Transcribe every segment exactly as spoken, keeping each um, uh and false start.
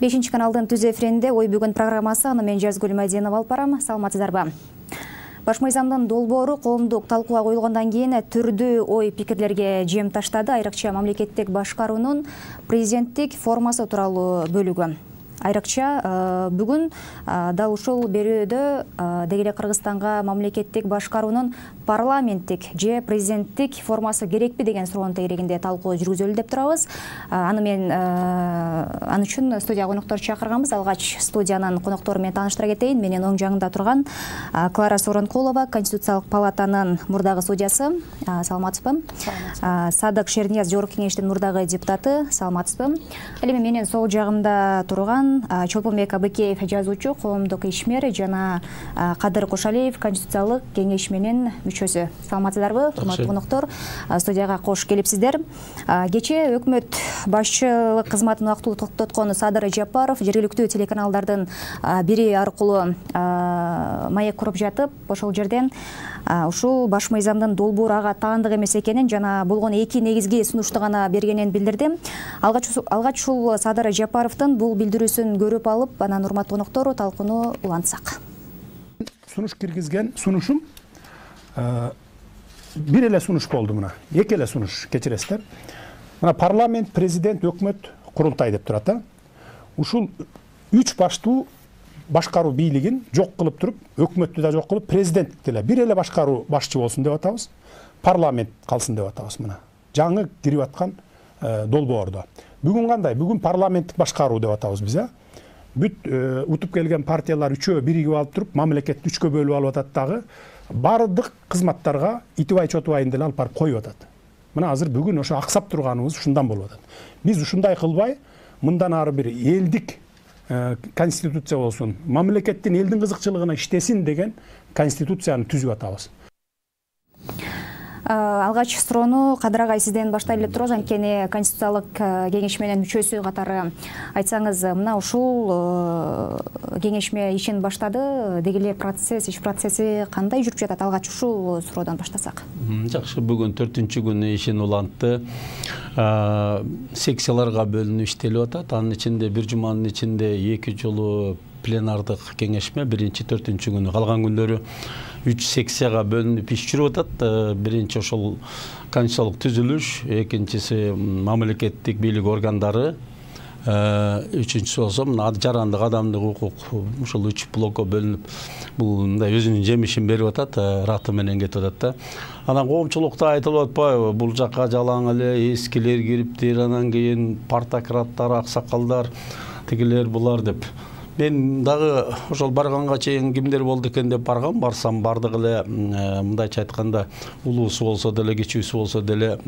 бешинчи каналдын түз эфиринде ой бүгүн программасы, аны мен Жазгүл Мадинова алып барам. Саламатсыздарбы? Баш мыйзамдын долбоору коомдук талкууга коюлгандан кийин түрдүү ой пикирлерге жем таштады. Айрыкча мамлекеттик башкаруунун президенттик формасы тууралуу бөлүгү. Айрыкча бүгүн дал ушул берүүдө деги эле Кыргызстанга мамлекеттик башкаруунун парламенттик же президенттик формасы керекпи деген суроонун тегерегинде талкуу жүргүзөлү деп турабыз. Аны мен аны үчүн студия коноктор чакырганбыз. Алгач студиянын коноктору менен тааныштыра кетейин. Менин оң жагымда турган Клара Сооронкулова, Конституциялык палатанын мурдагы судьясы. Саламатсызбы? Садык Шернияз, Жогорку кеңештин мурдагы депутаты. Саламатсызбы? Ал эми менин сол жагымда турган Чолпонбек Абыкеев, жазуучу, коомдук ишмер, жана Кадыр Кошалиев, Конституциялык кеңеш менин мүчөсү. Саламатсыздарбы, урматтуу коноктор? Студияга кош келипсиздер. Кечээ өкмөт башчылык кызматын убактылуу токтоткон Садыр Жапаров жергиликтүү телеканалдардын бири аркылуу маек куруп жатып, ошол жерден ушул баш мыйзамдын долбоору ага таандык эмес экенин жана болгон эки негизги сунушту гана бергенин билдирди. Алгач алгач ушул Садыр Жапаровдун бул билдирүүсүн көрүп алып, анан урматтуу коноктору талкууну улантсак. Сунуш киргизген сунушум бир эле сунуш болду мына. Эки эле сунуш, кечиресиздер. Мына парламент, президент, өкмөт, курултай деп турат да. Ушул үч баштуу башкаруу бийлигин жок кылып туруп, өкмөттү да жок кылып, президенттикти эле бир эле башкаруу башчы болсун деп атабыз. Парламент калсын деп атабыз мына. Жаңы кирип аткан долбоордо. Бүгүн кандай? Бүгүн парламенттик башкаруу деп атабыз биз, а? Бүт утуп келген партиялар үчөө биригип алып туруп, мамлекетти үчкө бөлүп алып атат дагы. Бардык кызматтарга итибай чотубайын деле алып барып коюп атат. Мына азыр бүгүн ошо аксап турганыбыз ушундан болуп атат. Биз ушундай кылбай, мындан ары бир элдик конституция болсун, мамлекеттин элдин кызыкчылыгына иштесин деген конституцияны түзүп атабыз. Алгач суроону Кадыр агай сизден баштайлы деп турабыз. Анткени Конституциялык кеңеш менен мүчөсү катары айтсаңыз, мына ушул кеңешме ишин баштады. Деги эле процесс, иш процесси кандай жүрүп жатат? Алгач ушул суроодон баштасак. Жакшы, бүгүн төртүнчү күнү ишин улантты. Секцияларга бөлүнүп иштелип атат. Анын ичинде бир жуманын ичинде эки жолу пленардык кеңешме, биринчи төртүнчү күнү, калган күндөрү үч секцияга бөлүнүп иш жүрүп атат. Биринчи ошол конституциялык түзүлүш, экинчиси мамлекеттик бийлик органдары, үчүнчүсү болсо мына жарандык, адамдык укук, ушул үч блокко бөлүнүп бул мындай өзүнүн жемишин берип атат, раты менен кетип атат да. Анан коомчулукта айтылып атпайбы, бул жакка жалаң эле эскилер кириптир, анан кийин партократтар, аксакалдар, тигилер булар деп. Мен дагы ошол барганга чейин кимдер болду экен деп баргам, барсам бардык эле мындайча айтканда улуусу болсо деле, кичүүсү болсо деле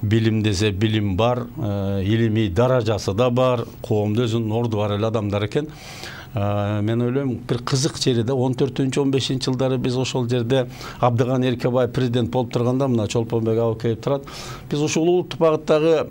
билим десе билим бар, илимий даражасы да бар, коомдо өзүнүн орду бар эле адамдар экен. Мен ойлойм, бир кызык жери да он төртүнчү он бешинчи жылдары биз ошол жерде Абдыган Эркебаев президент болуп турганда, мына Чолпонбек Абыкеев турат. Биз ушул улуттук багыттагы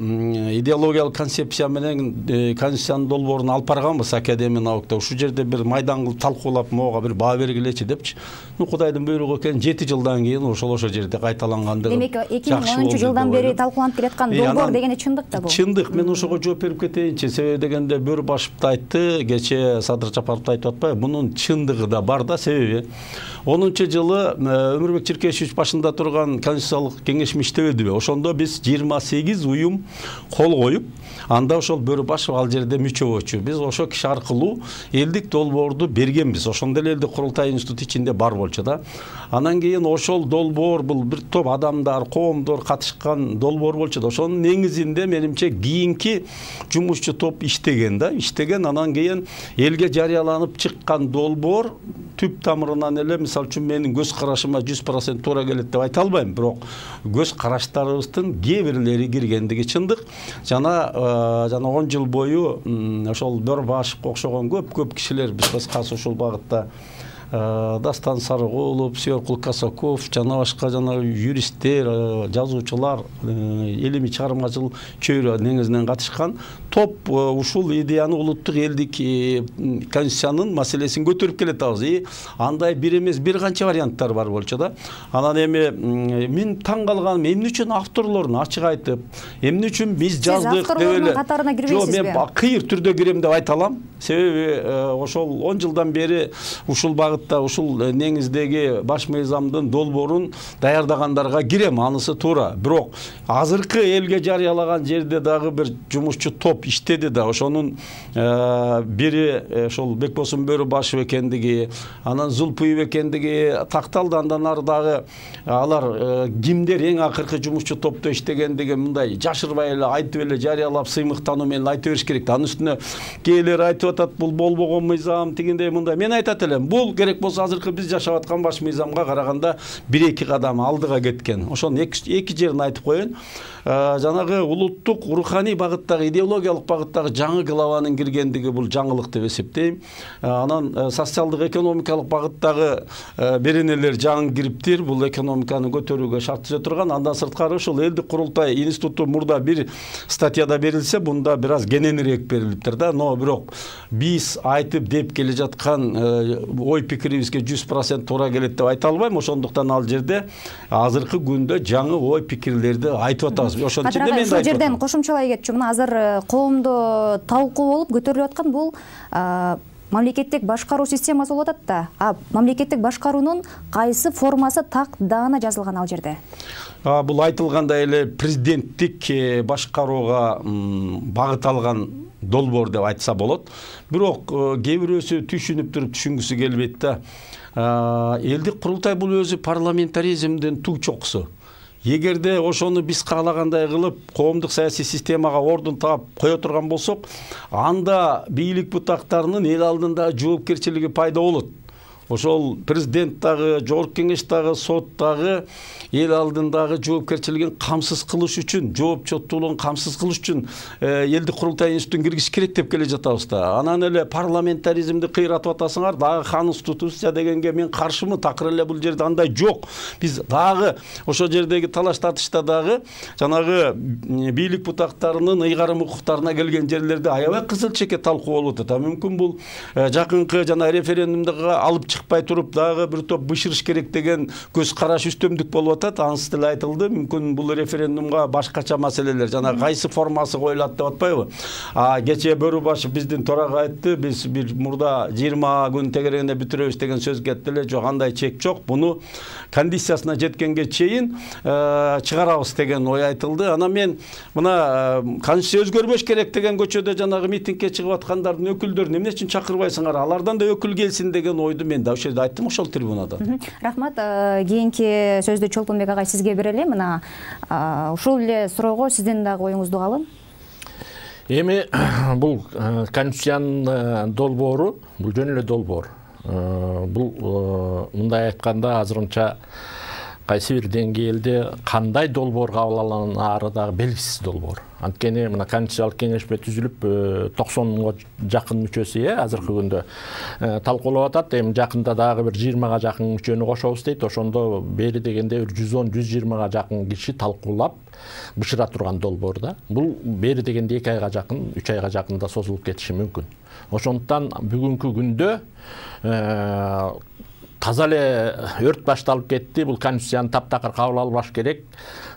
идеологиялык концепция менен конституциянын долбоорун алып барганбыз Академия наукада. Ушул жерде бир майдан кылып талкуулап, могу бир баа бергилечи депчи. Ну, Кудайдын буйругу экен, жети жылдан кийин ошол ошол жерде кайталангандыгы. Демек, эки миң онунчу жылдан бери талкууланып келаткан долбоор дегени чындык да бул. Чындык. Мен ошого жооп берип кетейинчи. Себеби дегенде Бөрбашев айтты, кечээ Садыр Жапаров айтып атпайбы, мунун чындыгы да бар да. Себеби онунчу жылы Өмүрбек Чиркешевич башында турган конституциялык кеңешме иштебедиби? Ошондо биз жыйырма сегиз уюм кол коюп, анда ошол Бөрбашев ал жерде мүчө болчу. Биз ошол киши аркылуу элдик долбоорду бергенбиз. Ошондо эле элдик курултай институту ичинде бар болчу да. Анан кийин ошол долбоор, бул бир топ адамдар, коомдор катышкан долбоор болчу да. Ошонун негизинде менимче кийинки жумушчу топ иштеген да, иштеген. Анан кийин элге жарыяланып чыккан долбоор түп тамырынан эле, мисалы үчүн менин көз карашыма жүз процент туура келет деп айта албайм, бирок көз караштарыбыздын кээ бирлери киргендиги чындык. Жана жана он жыл бою ошол Бөрбашевке окшогон көп-көп кишилер биз кыскасы ушул багытта Дастан Сарыгулов, Сүйөркул Касаков жана башка жана юристтер, жазуучулар, илимий чыгармачыл чөйрө негизинен катышкан топ ушул идеяны улуттук элдик конституциянын маселесин көтөрүп келатабыз. И андай бир эмес бир канча варианттар бар болчу да. Анан эми мен таң калганым эмне үчүн авторлорун ачык айтып, эмне үчүн биз жаздык деп эле. Катарына кирбейсизби? Жок, мен кыйыр түрдө кирем деп айта алам. Себеби ошол он жылдан бери ушул багытта, ушул негиздеги баш мыйзамдын долбоорун даярдагандарга кирем, анысы туура. Бирок азыркы элге жарыялаган жерде дагы бир жумушчу топ иштеди да. Ошонун бири ошол Бекбосун Бөрүбашев экендиги, анан Зулпуев экендиги такталды. Андан ары дагы алар кимдер эң акыркы жумушчу топто иштегендиги мындай жашырбай эле айтып эле жарыялап сыймыктануу менен айта бериш керек да. Анын үстүнө кээделер айтып атат, бул болбогон мыйзам, тигиндей мындай. Мен айтат элем, бул керек болсо азыркы биз жашап аткан баш мыйзамга караганда бир эки кадам алдыга кеткен. Ошонун эки жерин айтып коеюн. Жанагы улуттук руханий багыттагы, идеологиялык багыттагы жаңы главанын киргендиги бул жаңылык деп эсептейм. Анан социалдык экономикалык багыттагы беренелер жаңы кириптир, бул экономиканы көтөрүүгө шарт түзө турган. Андан сырткары ушул элдик курултай институту мурда бир статьяда берилсе, бунда бир аз кененирээк берилиптир да. Но бирок биз айтып деп келе жаткан ой пикирибизге жүз процент туура келет деп айта албайм. Ошондуктан ал жерде азыркы күндө жаңы ой пикирлерди айтып атабыз. Ошон үчүн мен ошол жерден кошумчалай кетчү. Мына азыр коомдо талкуу болуп көтөрүлүп аткан бул мамлекеттик башкаруу системасы болуп атат да. А мамлекеттик башкаруунун кайсы формасы так даана жазылган ал жерде? Бул айтылгандай эле президенттик башкарууга багыт алган долбоор деп айтса болот. Бирок кээ бирөөсү түшүнүп туруп түшүнгүсү келбейт да. Элдик курултай бул өзү парламентаризмдин туг чокусу. Эгерде ошону биз каалагандай кылып коомдук саясий системага ордун таап кое турган болсок, анда бийлик бутактарынын эл алдында жоопкерчилиги пайда болот. Ошол президент дагы, жогорку кеңеш дагы, сот дагы эл алдындагы жоопкерчилигин камсыз кылыш үчүн, жоопчоттуулугун камсыз кылыш үчүн элдик курултай институтун киргизиш керек деп келе жатабыз да. Анан эле парламентаризмди кыйратып атасыңар, дагы конституция дегенге мен каршымын, такыр эле бул жерде андай жок. Биз дагы ошол жердеги талаш тартышта дагы жанагы бийлик бутактарынын ыйгарым укуктарына келген жерлерде аябай кызыл чеке талкуу болуп атат. Мүмкүн бул жакынкы жана референдумдага алып чыкпай туруп дагы бир топ бышырыш керек деген көз караш үстөмдүк болуп атат. Анысы деле айтылды. Мүмкүн бул референдумга башкача маселелер жана кайсы формасы коюлат деп атпайбы? А кечээ Бөрүбашев биздин төрага айтты, биз бир мурда жыйырма күн тегерегинде бүтүрөбүз деген сөз кетти эле. Жок, андай чек жок. Буну кондициясына жеткенге чейин чыгарабыз деген ой айтылды. Анан мен мына конституция өзгөрбөш керек деген көчөдө жанагы митингге чыгып аткандардын өкүлдөрүн эмне үчүн чакырбайсыңар? Алардан да өкүл келсин деген ойду мен да ошол жерде айттым, ошол трибунада. Рахмат. Кийинки сөздү Чолпонбек агай сизге берели. Мына ушул эле суроого сиздин дагы оюңузду алам. Эми бул конституциянын долбоору, бул жөн эле долбоор. Бул мындай айтканда азырынча кайсы бир деңгээлде кандай долбоор кабыл алынары дагы белгисиз долбоор. Анткени мына конституциялык кеңешме түзүлүп токсонго жакын мүчөсү э азыркы күндө талкуулап атат. Эми жакында дагы бир жыйырмага жакын мүчөнү кошобуз дейт. Ошондо бери дегенде бир жүз он жүз жыйырмага жакын киши талкуулап бышыра турган долбоор да. Бул бери дегенде эки айга жакын, үч айга жакын да созулуп кетиши мүмкүн. Ошондуктан бүгүнкү күндө таза эле өрт башталып кетти. Бул конституцияны таптакыр кабыл албаш керек.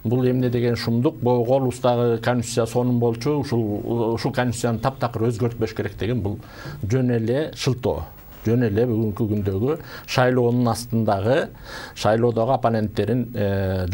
Бул эмне деген шумдук. Голубуздагы конституция сонун болчу. Ушул ушул конституцияны таптакыр өзгөртпөш керек деген бул жөн эле шылтоо. Жөн эле бүгүнкү күндөгү шайлоонун астындагы, шайлоодогу оппоненттерин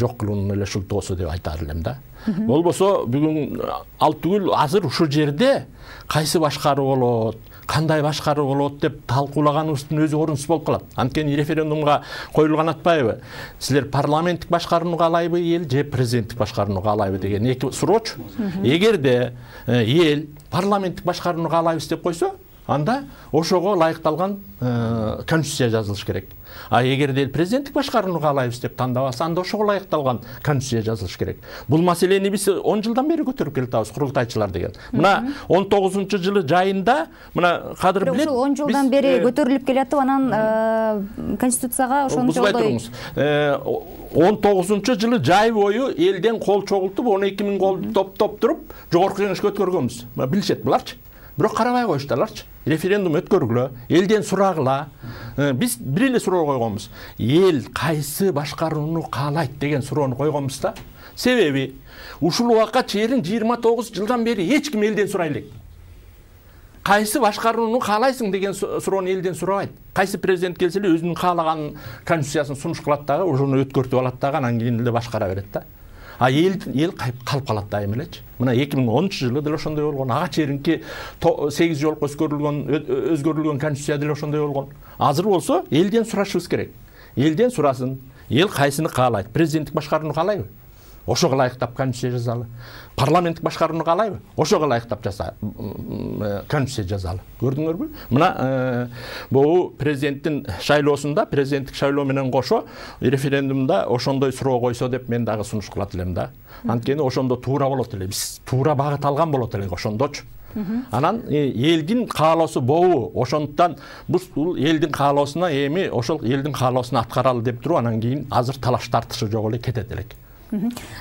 жок кылуунун эле шылтоосу деп айтар элем да. Болбосо бүгүн ал түгүл азыр ушул жерде кайсы башкаруу болот, кандай башкаруу болот деп талкуулаганыбыздын өзү орунсуз болуп калат. Анткени референдумга коюлган атпайбы? Силер парламенттик башкарууну каалайбы эл же президенттик башкарууну каалайбы деген эки суроочу. Эгерде эл парламенттик башкарууну каалайбыз деп койсо, анда ошого ылайыкталган конституция жазылыш керек. А эгерде эл президенттик башкарууну каалайбыз деп тандабаса, анда ошого ылайыкталган конституция жазылыш керек. Бул маселени биз он жылдан бери көтөрүп келатабыз, курултайчылар деген. Мына он тогузунчу жылы жайында, мына кадыр билет. Ушул он жылдан бери көтөрүлүп келатып, анан конституцияга ошончолдой он тогузунчу жылы жай бою элден кол чогултуп, он эки миң кол топтоп туруп, жогорку кеңешке өткөргөнбүз. Билишет буларчы. Бирок карабай коюшталарчы. Референдум өткөргүлө, элден сурагыла. Биз бир эле суроо койгонбуз. Эл кайсы башкарууну каалайт деген суроону койгонбуз да. Себеби ушул убакка чейин жыйырма тогуз жылдан бери эч ким элден сурай элек. Кайсы башкарууну каалайсың деген суроону элден сурабайт. Кайсы президент келсе эле өзүнүн каалаган конституциясын сунуш кылат дагы, ошону өткөртүп алат дагы, анан кийин эле башкара берет да. А эл эл калып калат дайым элечи. Мына эки миң онунчу жылы деле ошондой болгон. Ага чейинки сегиз жолку өзгөрүлгөн өзгөрүлгөн конституция деле ошондой болгон. Азыр болсо элден сурашыбыз керек. Элден сурасын. Эл кайсыны каалайт? Президенттик башкарууну каалайбы? Ошого ылайыктап конституция жазалы. Парламенттик башкарууну каалайбы? Ошого ылайыктап жаса конституция жазалы. Көрдүңөрбү? Мына бул президенттин шайлоосунда, президенттик шайлоо менен кошо референдумда ошондой суроо койсо деп мен дагы сунуш кылат элем да. Анткени ошондо туура болот эле. Биз туура багыт алган болот элек ошондочу. Анан элдин каалоосу болобу? Ошондуктан бул элдин каалоосуна эми ошол элдин каалоосуна аткаралы деп туруп, анан кийин азыр талаш тартышы жок эле кетет элек.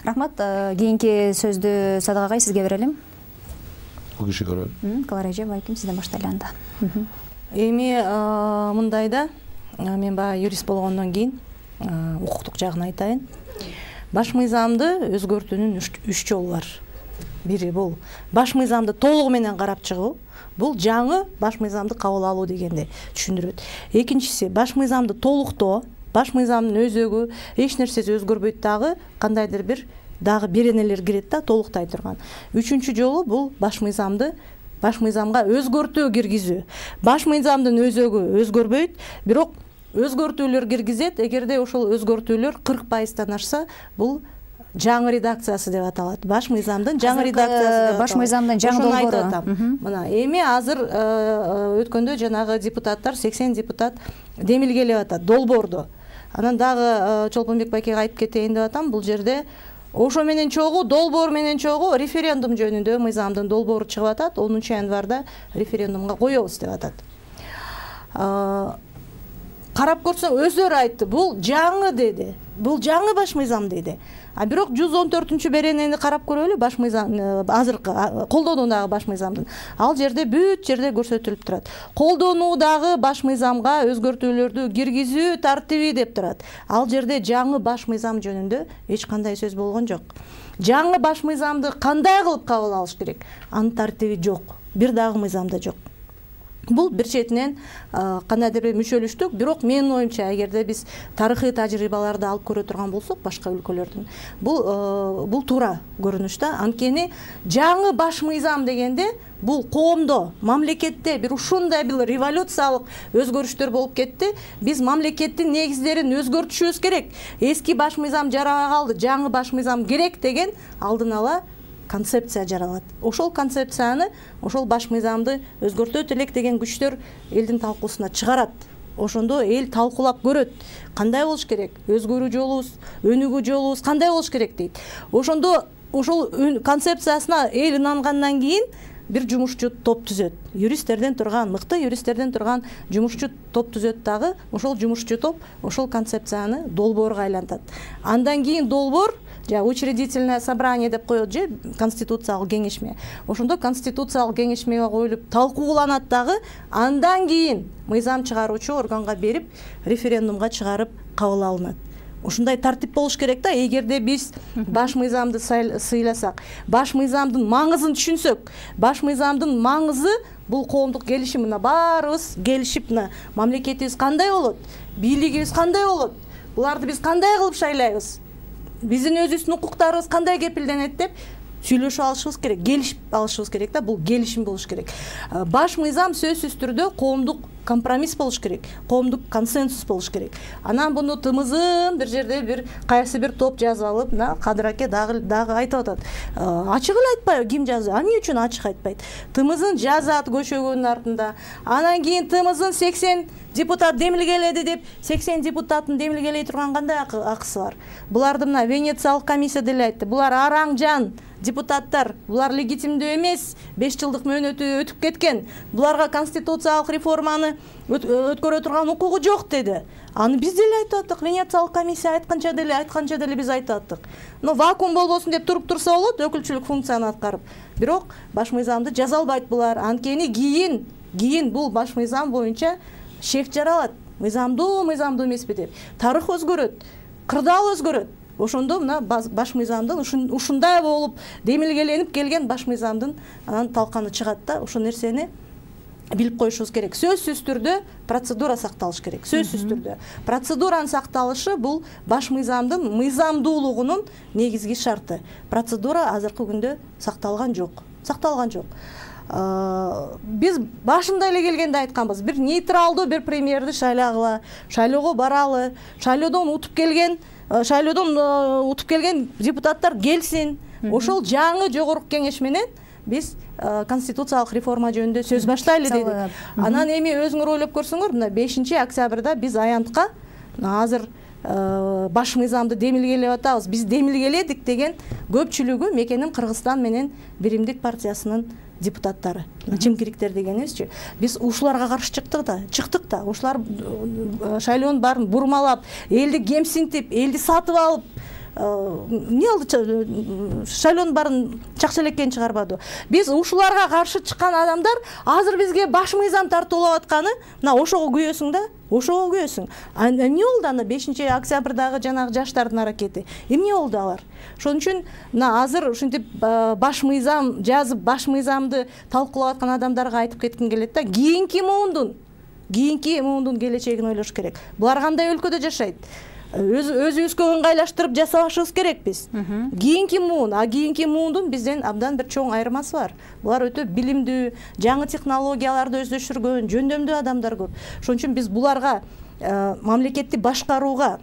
Рахмат. Кийинки сөздү Садык агай сизге берелим. Бул киши көрөм. Клара эже, балким сизден баштайлы анда. Эми мындайда, мен баягы юрист болгондон кийин укуктук жагын айтайын. Баш мыйзамды өзгөртүүнүн үч жолу бар. Бири бул баш мыйзамды толугу менен карап чыгуу. Бул жаңы баш мыйзамды кабыл алуу дегенди түшүндүрөт. Экинчиси баш мыйзамды толуктоо. Баш мыйзамдын өзөгү эч нерсеси өзгөрбөйт дагы, кандайдыр бир дагы беренелер кирет да, толуктай турган. Үчүнчү жолу бул баш мыйзамды баш мыйзамга өзгөртүү киргизүү. Баш мыйзамдын өзөгү өзгөрбөйт, бирок өзгөртүүлөр киргизет. Эгерде ошол өзгөртүүлөр кырк пайыздан ашса, бул жаңы редакциясы деп аталат. Баш мыйзамдын жаңы редакциясы. Баш мыйзамдын жаңы долбоору. Мына эми азыр өткөндө жанагы депутаттар сексен депутат демилгелеп атат долбоорду. Анан дагы Чолпонбек байкеге айтып кетейин деп атам. Бул жерде ошо менен чогуу, долбоор менен чогуу референдум жөнүндө мыйзамдын долбоору чыгып атат. онунчу январда референдумга коебуз деп атат. Карап көрсөң өздөрү айтты. Бул жаңы деди. Бул жаңы баш мыйзам деди. А бирок жүз он төртүнчү беренени карап көрөлү, баш мыйзам азыркы колдонуудагы баш мыйзамдын. Ал жерде бүт жерде көрсөтүлүп турат. Колдонуудагы баш мыйзамга өзгөртүүлөрдү киргизүү тартиби деп турат. Ал жерде жаңы баш мыйзам жөнүндө эч кандай сөз болгон жок. Жаңы баш мыйзамды кандай кылып кабыл алыш керек? Анын тартиби жок. Бир дагы мыйзамда жок. Бул бир четинен кандайдыр бир мүчөлүштүк, бирок менин оюмча, эгерде биз тарыхый тажрыйбаларды алып көрө турган болсок, башка өлкөлөрдүн, бул бул туура көрүнүш да. Анткени жаңы баш мыйзам дегенде бул коомдо, мамлекетте бир ушундай бир революциялык өзгөрүштөр болуп кетти. Биз мамлекеттин негиздерин өзгөртүшүбүз керек. Эски баш мыйзам жарабай калды, жаңы баш мыйзам керек деген алдын ала концепция жаралат. Ошол концепцияны, ошол баш мыйзамды өзгөртөт элек деген күчтөр элдин талкуусуна чыгарат. Ошондо эл талкуулап көрөт. Кандай болуш керек? Өзгөрүү жолубуз, өнүгүү жолубуз кандай болуш керек дейт. Ошондо ошол концепциясына эл инангандан кийин бир жумушчу топ түзөт. Юристтерден турган, мыкты юристтерден турган жумушчу топ түзөт дагы. Ошол жумушчу топ ошол концепцияны долбоорго айлантат. Андан кийин долбоор жа учредительное собрание деп коет же конституциялык кеңешме. Ошондо конституциялык кеңешмеге коюлуп талкууланат дагы, андан кийин мыйзам чыгаруучу органга берип референдумга чыгарып кабыл алынат. Ушундай тартип болуш керек да. Эгерде биз баш мыйзамды сыйласак, баш мыйзамдын маңызын түшүнсөк, баш мыйзамдын маңызы бул коомдук келишим, мына баарыбыз келишип, мына мамлекетибиз кандай болот, бийлигибиз кандай болот, буларды биз кандай кылып шайлайбыз, биздин өзүбүздүн укуктарыбыз кандай кепилденет деп сүйлөшүп алышыбыз керек, келишип алышыбыз керек да. Бул келишим болуш керек. Баш мыйзам сөзсүз түрдө коомдук компромисс болуш керек, коомдук консенсус болуш керек. Анан буну тымызын бир жерде бир кайсы бир топ жазып алып, мына Кадыр аке дагы дагы айтып атат. Ачык эле айтпайбы, ким жазды? Эмне үчүн ачык айтпайт? Тымызын жазат көчөгөнүн артында. Анан кийин тымызын сексен депутат демилгеледи деп, сексен депутаттын демилгелей турган кандай акысы бар? Буларды мына Венециялык комиссия деле айтты. Булар араң жан депутаттар, булар легитимдүү эмес, беш жылдык мөөнөтү өтүп кеткен. Буларга конституциялык реформаны өткөрө турган укугу жок деди. Аны биз деле айтып аттык, Венециялык комиссия айтканча деле, айтканча деле биз айтып аттык. Но вакуум болбосун деп туруп турса болот, өкүлчүлүк функцияны аткарып. Бирок баш мыйзамды жаза албайт булар. Анткени кийин, кийин бул баш мыйзам боюнча шек жаралат. Мыйзамдуу, мыйзамдуу эмеспи деп. Тарых өзгөрөт, кырдаал өзгөрөт. Ошондо мына баш мыйзамдын ушундай болуп демилгеленип келген баш мыйзамдын анан талканы чыгат да, ошол нерсени билип коюшубуз керек. Сөзсүз түрдө процедура сакталыш керек. Сөзсүз түрдө. Процедуранын сакталышы бул баш мыйзамдын мыйзамдуулугунун негизги шарты. Процедура азыркы күндө сакталган жок. Сакталган жок. Биз башында эле келгенде айтканбыз, бир нейтралдуу бир премьерди шайлагыла, шайлоого баралы, шайлоодон утуп келген шайлоодон утуп келген депутаттар келсин. Ошол жаңы жогорку кеңеш менен биз конституциялык реформа жөнүндө сөз баштайлы дедик. Анан эми өзүңөр ойлоп көрсөңөр, мына бешинчи октябрда биз аянтка азыр баш мыйзамды демилгелеп атабыз. Биз демилгеледик деген көпчүлүгү мекеним Кыргызстан менен Биримдик партиясынын депутаттары, чимкириктер дегенибизчи. Биз ушуларга каршы чыктык да, чыктык да. Ушулар шайлоонун баарын бурмалап, элди кемсинтип, элди сатып алып, эмне болду? Шайлоонун баарын чакчалеккени чыгарбады. Биз ушуларга каршы чыккан адамдар азыр бизге баш мыйзам тартуулап атканы, мына ошого күйөсүң да, ошого күйөсүң. Эмне болду аны бешинчи октябрдагы жанагы жаштардын аракети? Эмне болду алар? Ошон үчүн мына азыр ушинтип баш мыйзам жазып, баш мыйзамды талкуулап аткан адамдарга айтып кетким келет да, кийинки муундун, кийинки муундун келечегин ойлош керек. Булар кандай өлкөдө жашайт? Өз өзүбүзгө ыңгайлаштырып жасабашыбыз керек биз. Кийинки муун, а кийинки муундун бизден абдан бир чоң айырмасы бар. Булар өтө билимдүү, жаңы технологияларды өздөштүргөн, жөндөмдүү адамдар көп. Ошон үчүн биз буларга мамлекетти башкарууга,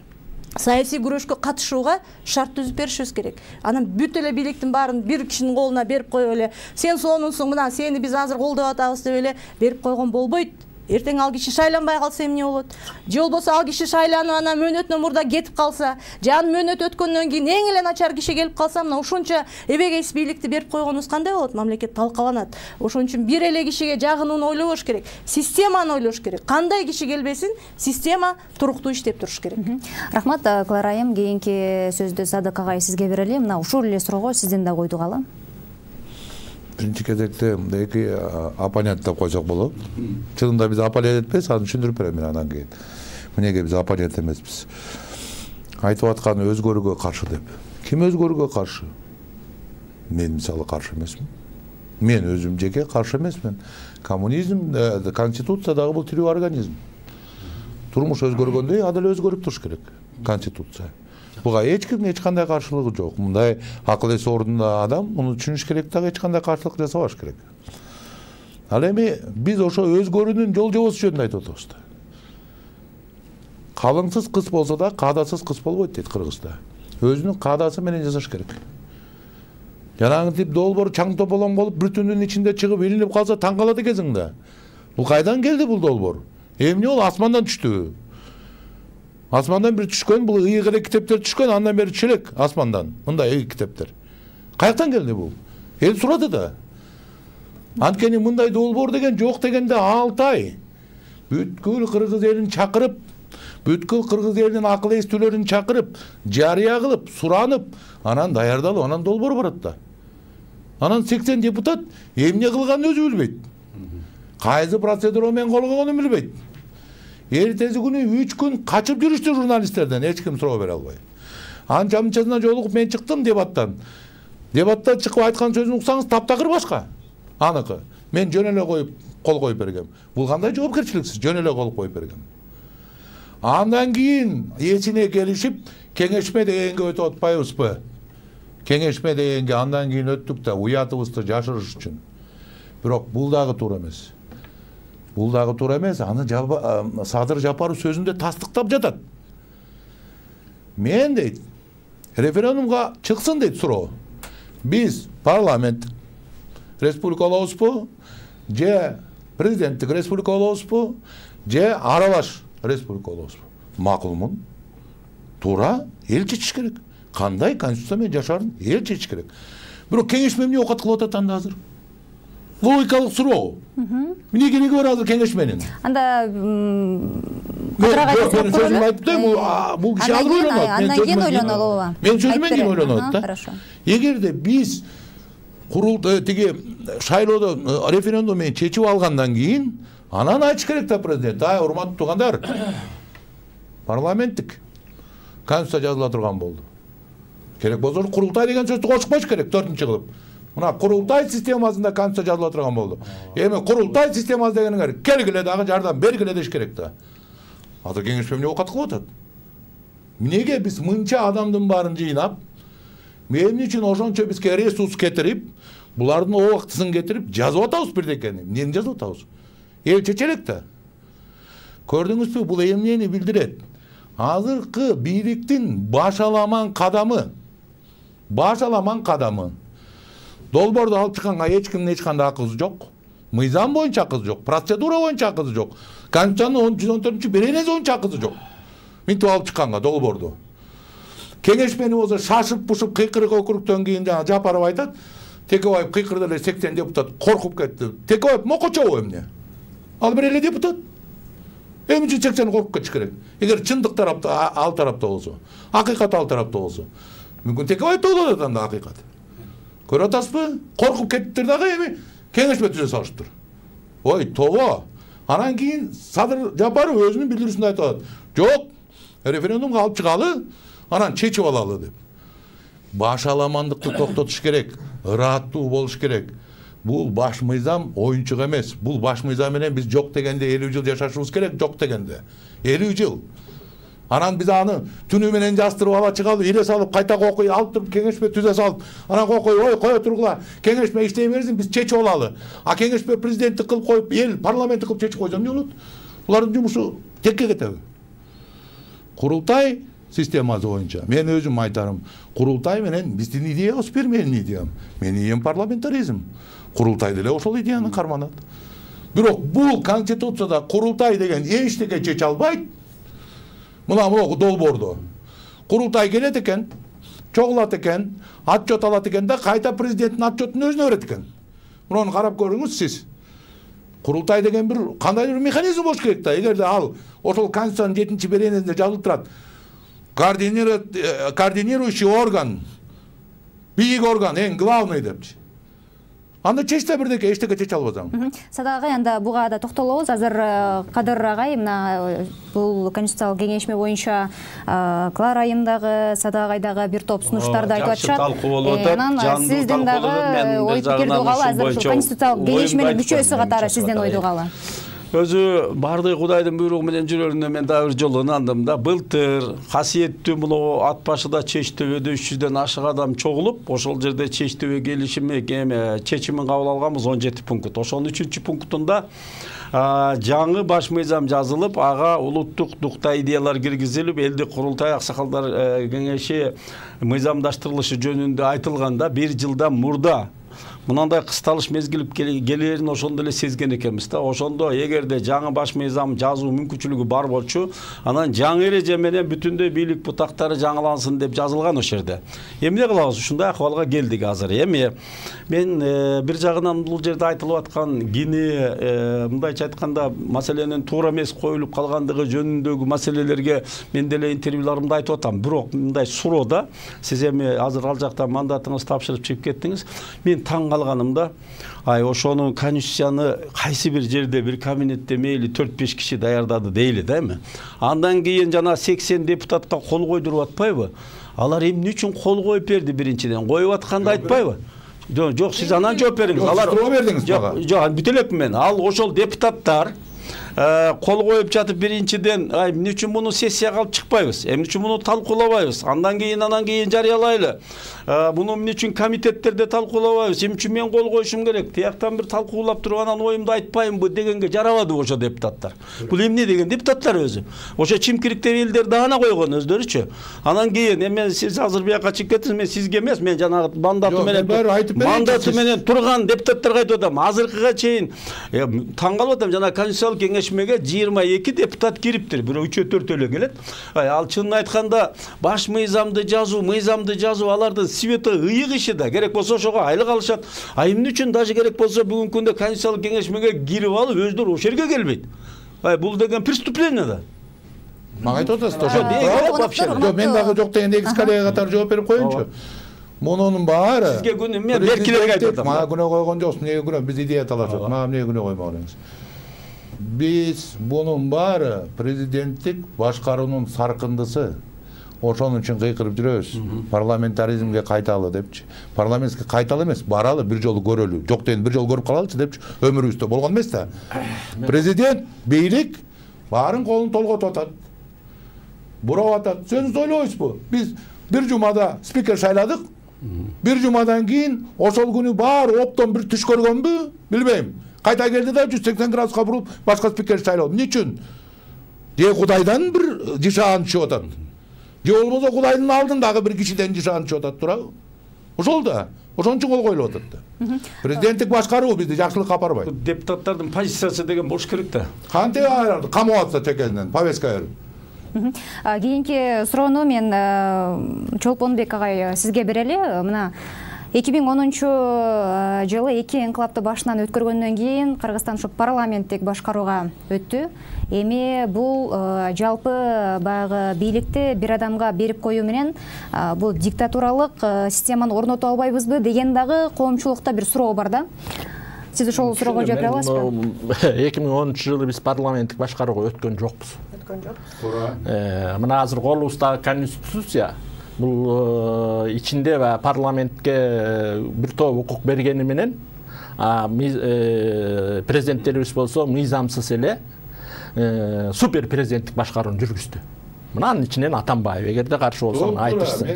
саясий күрөшкө катышууга шарт түзүп беришибиз керек. Анан бүт эле бийликтин баарын бир кишинин колуна берип коюп эле, сен сонунсуң, мына сени биз азыр колдоп атабыз деп эле берип койгон болбойт. Эртең ал киши шайланбай калса эмне болот? Же болбосо ал киши шайланып анан мөөнөтүнөн мурда кетип калса, же анын мөөнөтү өткөндөн кийин эң эле начар киши келип калса, мына ушунча эбегейсиз бийликти берип койгонубуз кандай болот? Мамлекет талкаланат. Ошон үчүн бир эле кишиге жагынууну ойлобош керек. Системаны ойлош керек. Кандай киши келбесин, система туруктуу иштеп туруш керек. Рахмат, Клара айым. Кийинки сөздү Садык агай сизге берели. Мына ушул эле суроого сизден да койдугалы. Биринчи кезекте эки оппонент деп койсок болот. Чынында биз оппонент этпейбиз, аны түшүндүрүп берем мен андан кийин. Эмнеге биз оппонент эмеспиз? Айтып атканы өзгөрүүгө каршы деп. Ким өзгөрүүгө каршы? Мен мисалы каршы эмесмин. Мен өзүм жеке каршы эмесмин. Коммунизм, конституция дагы бул тирүү организм. Турмуш өзгөргөндөй, ал деле өзгөрүп туруш керек. Конституция. Буга эч кимдин эч кандай каршылыгы жок. Мындай акыл эси ордунда адам муну түшүнүш керек дагы, эч кандай каршылык жасабаш керек. Ал эми биз ошо өзгөрүүнүн жол жобосу жөнүндө айтып атабыз да. Калыңсыз кыз болсо да каадасыз кыз болбойт дейт Кыргызда. Өзүнүн каадасы менен жасаш керек. Жанагы тип долбоор чаң тополоң болуп, бүтүнүн ичинде чыгып илинип калса таң калат экенсиң да. Бул кайдан келди бул долбоор? Эмне ол асмандан түштүбү? Асмандан бир түшкөн, бул ыйык эле китептер түшкөн, андан бери түшө элек асмандан. Мындай ыйык китептер. Каяктан келди бул? Эл сурады да. Анткени мындай долбоор деген жок дегенде алты ай. Бүткүл кыргыз элин чакырып, бүткүл кыргыз элинин акыл эстүүлөрүн чакырып, жарыя кылып, суранып, анан даярдалып, анан долбоор барат да. Анан сексен депутат эмне кылганын өзү билбейт. Кайсы процедура менен кол койгонун билбейт. Эртеси күнү үч күн качып жүрүштү журналисттерден, эч ким суроо бере албай. Анча мынчасына жолугуп мен чыктым дебаттан. Дебатта чыгып айткан сөзүн уксаңыз таптакыр башка. Аныкы. Мен жөн эле коюп кол коюп бергем. Бул кандай жоопкерчиликсиз, жөн эле кол коюп бергем. Андан кийин эсине келишип, кеңешме дегенге өтүп атпайбызбы? Кеңешме дегенге андан кийин өттүк да, уятыбызды жашырыш үчүн. Бирок бул дагы туура эмес. Бул дагы туура эмес. Аны Садыр Жапаров сөзүндө тастыктап жатат. Мен дейт, референдумга чыксын дейт суроо. Биз парламент республика болобузбу, же президенттик республика болобузбу, же аралаш республика болобузбу? Макулмун. Туура, эл чечиш керек. Кандай конституция менен жашаарын эл чечиш керек. Бирок кеңешме эмне окат кылып атат анда азыр? Логикалык суроо. Эмне кереги бар азыр кеңешменин? Анда Мен сөзүм айтып да, бул киши азыр ойлонот. Андан кийин ойлонолобу? Мен сөзүмөн кийин ойлонот да. Эгерде биз курултай тиги шайлоодо референдум менен чечип алгандан кийин анан айтыш керек да президент, ай урматтуу туугандар, парламенттик конституция жазыла турган болду. Керек болсо курултай деген сөздү кошуп коюш керек төртүнчү кылып. Мына курултай системасында конституция жазыла турган болду. Эми курултай системасы дегениңер келгиле дагы жардам бергиле деш керек да. Азыр кеңешме эмне окат кылып атат? Эмнеге биз мынча адамдын баарын жыйнап, эмне үчүн ошончо бизге ресурс кетирип, булардын убактысын кетирип жазып атабыз бирдекени? Эмнени жазып атабыз? Эл чечелек да. Көрдүңүзбү, бул эмнени билдирет? Азыркы бийликтин башаламан кадамы, башаламан кадамы. Долбоорду алып чыкканга эч кимдин эч кандай акысы жок. Мыйзам боюнча акысы жок, процедура боюнча акысы жок. Конституциянын жүз он төртүнчү беренеси боюнча акысы жок. Минтип алып чыкканга долбоорду. Кеңешмени болсо шашып-пушуп кыйкырык округтон кийин жана Жапаров айтат, Текебаев кыйкырды эле сексен депутат коркуп кетти. Текебаев мокочобу эмне? Ал бир эле депутат. Эмне үчүн сексен коркуп кетиш керек? Эгер чындык тарапта ал тарапта болсо, акыйкат ал тарапта болсо, мүмкүн Текебаев да болот анда акыйкат. Көрүп атасызбы? Коркуп кеттиптир дагы эми кеңешме түзө салыштыр. Ой, тобо. Анан кийин Садыр Жапаров өзүнүн билдирүүсүндө айтып атат. Жок, референдумга алып чыгалы, анан чечип алалы деп. Башаламандыкты токтотуш керек, ырааттуу болуш керек. Бул баш мыйзам оюнчук эмес. Бул баш мыйзам менен биз жок дегенде элүү жыл жашашыбыз керек, жок дегенде. элүү жыл. Анан биз аны түнү менен жастырып ала чыгалы, иле салып кайта кокуй алып туруп кеңешме түзө салып, анан кокуй, ой, кое тургула, кеңешме иштей берсин, биз чечип алалы. А кеңешме президенттик кылып коюп, эл парламенттик кылып чечип койсо эмне болот? Булардын жумушу текке кетеби? Курултай системасы боюнча мен өзүм айтарым, курултай менен биздин идеябыз бир менин идеям. Менин идеям парламентаризм. Курултай деле ошол идеяны карманат. Бирок бул конституцияда курултай деген эчтеке чече албайт. Мына могу долбоордо. Курултай келет экен, чогулат экен, отчет алат экен да кайта президенттин отчетун өзүнө берет экен. Муну карап көрүңүз сиз. Курултай деген бир кандай бир механизм болуш керек да. Эгерде ал ошол конституциянын жетинчи беренесинде жазылып турат. Координирующий орган, бийик орган, эң главный депчи. Анда чечсе бирдеке эчтеке чече албасаң. Садак агай, анда буга да токтолобуз. Азыр Кадыр агай мына бул конституциялык кеңешме боюнча Клара айымдагы, Садак агайдагы бир топ сунуштарды айтып атышат. Талкуу болуп атат. Анан сиздин дагы ой пикирди угалы, азыр ушул конституциялык кеңешменин мүчөсү катары сизден ойду угалы. Өзү баардык Кудайдын буйругу менен жүрөрүнө мен дагы бир жолу ынандым да. Былтыр касиеттүү мына ат башыда Чечтөбөдө үч жүздөн ашык адам чогулуп, ошол жерде Чечтөбө келишими эме чечимин кабыл алганбыз он жети пункт. Ошонун үчүнчү пунктунда жаңы баш мыйзам жазылып, ага улуттук дукта идеялар киргизилип, элдик курултай аксакалдар кеңеши мыйзамдаштырылышы жөнүндө айтылганда бир жылдан мурда мынандай кысталыш мезгил келерин ошондо эле сезген экенбиз да. Ошондо эгерде жаңы баш мыйзам жазуу мүмкүнчүлүгү бар болчу, анан жаңы эреже менен бүтүндөй бийлик бутактары жаңылансын деп жазылган ошол жерде. Эмне кылабыз? Ушундай акыбалга келдик азыр. Эми мен бир жагынан бул жерде айтылып аткан кини, мындайча айтканда, маселенин туура эмес коюлуп калгандыгы жөнүндөгү маселелерге мен деле интервьюларымда айтып атам. Бирок мындай суроода сиз эми азыр ал жакта мандатыңызды тапшырып чыгып кеттиңиз. Мен таң калганымда, ай ошону конституцияны кайсы бир жерде бир кабинетте мейли төрт беш киши даярдады дейли да эми. Андан кийин жана сексен депутатка кол койдуруп атпайбы? Алар эмне үчүн кол коюп берди биринчиден? Коюп атканды айтпайбы? Жок, сиз анан жооп бериңиз. Алар суроо бердиңиз мага. Жок, бүт элекмин мен. Ал ошол депутаттар кол коюп жатып биринчиден ай эмне үчүн муну сессияга алып чыкпайбыз, эмне үчүн муну талкуулабайбыз, андан кийин анан кийин жарыялайлы, муну эмне үчүн комитеттерде талкуулабайбыз, эмне үчүн мен кол коюшум керек, тияктан бир талкуулап туруп анан оюмду айтпаймынбы дегенге жарабады ошо депутаттар. Бул эмне деген депутаттар өзү. Ошо чимкириктеги элдер даана койгон өздөрүчү. Анан кийин эми сиз азыр бияка чыгып кеттиңиз, мен сизге эмес, мен жанагы мандаты менен мандаты менен турган депутаттарга айтып атам. Азыркыга чейин таң калып атам, жана конституциялык кеңешмеге жыйырма эки депутат кириптир, бирөө үчөө төртөө эле келет. Ал чынын айтканда баш мыйзамды жазуу, мыйзамды жазуу алардын свети ыйык иши да. Керек болсо ошого айлык алышат. А эмне үчүн даже керек болсо бүгүнкү күндө конституциялык кеңешмеге кирип алып өздөрү ошол жерге келбейт. Бул деген преступление да. Мага айтып атасыз ошо. Мен дагы жок деген экс коллега катары жооп берип коеюнчу. Мунунун баары сизге күнү мен беркилерге айтып атам. Мага күнөө койгон жоксуң, эмнеге күнөө? Биз идея талашат. Мага эмнеге күнөө коймоңуз? Биз мунун баары президенттик башкаруунун саркындысы. Ошонун үчүн кыйкырып жүрөбүз. Парламентаризмге кайталы депчи. Парламентке кайталы эмес, баралы, бир жолу көрөлү. Жок деген бир жолу көрүп калалычы депчи. Өмүрүбүздө болгон эмес да. Президент, бийлик баарын колун толготуп атат. Бурап атат. Сен ойлойсузбу? Биз бир жумада спикер шайладык. Бир жумадан кийин ошол күнү баары оптон бир түш көргөнбү? Билбейм. Кайта келди да жүз сексен градуска бурулуп башка спикер шайлоо. Эмне үчүн? Же Кудайдан бир жишаан түшүп атат. Же болбосо Кудайдын алдындагы бир кишиден жишаан түшүп атат турабы? Ошол да. Ошон үчүн кол коюлуп атат да. Президенттик башкаруу бизди жакшылыкка апарбайт. Депутаттардын позициясы деген болуш керек да. Кантип айрылды? Камап атса текелинен, повестка берип. Кийинки суроону мен Чолпонбек агай сизге берели. Мына эки миң онунчу жылы эки инкылапты башынан өткөргөндөн кийин Кыргызстан ушу парламенттик башкарууга өттү. Эми бул жалпы баягы бийликти бир адамга берип коюу менен бул диктатуралык системаны орното албайбызбы деген дагы коомчулукта бир суроо бар да. Сиз ошол суроого жооп бере аласызбы? эки миң онунчу жылы биз парламенттик башкарууга өткөн жокпуз. Өткөн жокпуз. Туура. Мына азыр колубуздагы конституция бул ичинде парламентке бир топ укук бергени менен президенттерибиз болсо мыйзамсыз эле супер президенттик башкарууну жүргүздү. Мынанын ичинен Атамбаев, эгерде каршы болсоң айтышсын.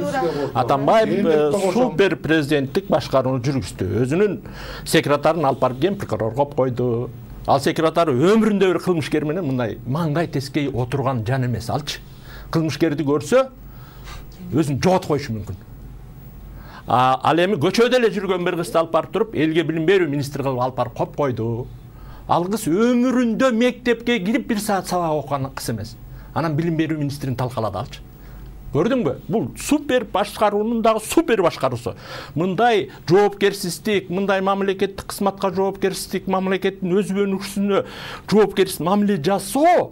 Атамбаев супер президенттик башкарууну жүргүздү. Өзүнүн секретарын алып барып ген прокурор коюп койду. Ал секретары өмүрүндө бир кылмышкер менен мындай маңдай тескей отурган жан эмес алчы. Кылмышкерди көрсө өзүн жоготуп коюшу мүмкүн. Ал эми көчөдө эле жүргөн бир кызды алып барып туруп, элге билим берүү министри кылып алып барып коюп койду. Ал кыз өмүрүндө мектепке кирип бир саат сабак окуган кыз эмес. Анан билим берүү министрин талкалады алчы. Көрдүңбү? Бул супер башкаруунун дагы супер башкаруусу. Мындай жоопкерсиздик, мындай мамлекеттик кызматка жоопкерсиздик, мамлекеттин өз өнүгүшүнө жоопкерсиз мамиле жасоо,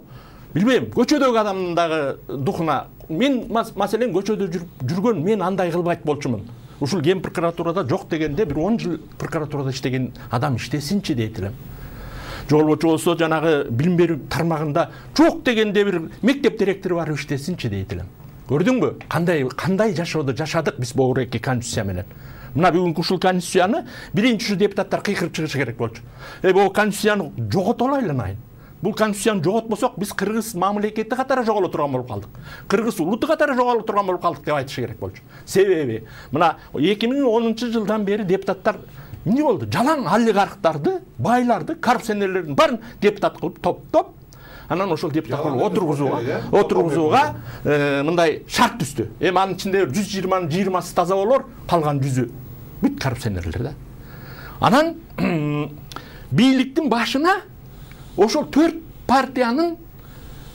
билбейм, көчөдөгү адамдын дагы духуна. Мен маселен көчөдө жүргөн, мен андай кылбайт болчумун. Ушул ген прокуратурада жок дегенде бир он жыл прокуратурада иштеген адам иштесинчи дейт элем. Жолбочу болсо жанагы билим берүү тармагында жок дегенде бир мектеп директору барып иштесинчи дейт элем. Көрдүңбү? Кандай кандай жашоодо жашадык биз бул эки конституция менен. Мына бүгүнкү ушул конституцияны биринчи депутаттар кыйкырып чыгышы керек болчу. Э бул конституцияны жоготолайлы найын. Бул конституцияны жоготпосок биз кыргыз мамлекети катары жоголо турган болуп калдык. Кыргыз улуту катары жоголо турган болуп калдык деп айтышы керек болчу. Себеби мына эки миң онунчу жылдан бери депутаттар эмне болду? Жалаң олигархтарды, байларды, коррупционерлердин баарын депутат кылып топтоп, анан ошол депутат кылып отургузууга, отургузууга мындай шарт түздү. Эми анын ичинде жүз жыйырманын жыйырмасы таза болор, калган жүзү бүт коррупционерлер да. Анан бийликтин башына ошол төрт партиянын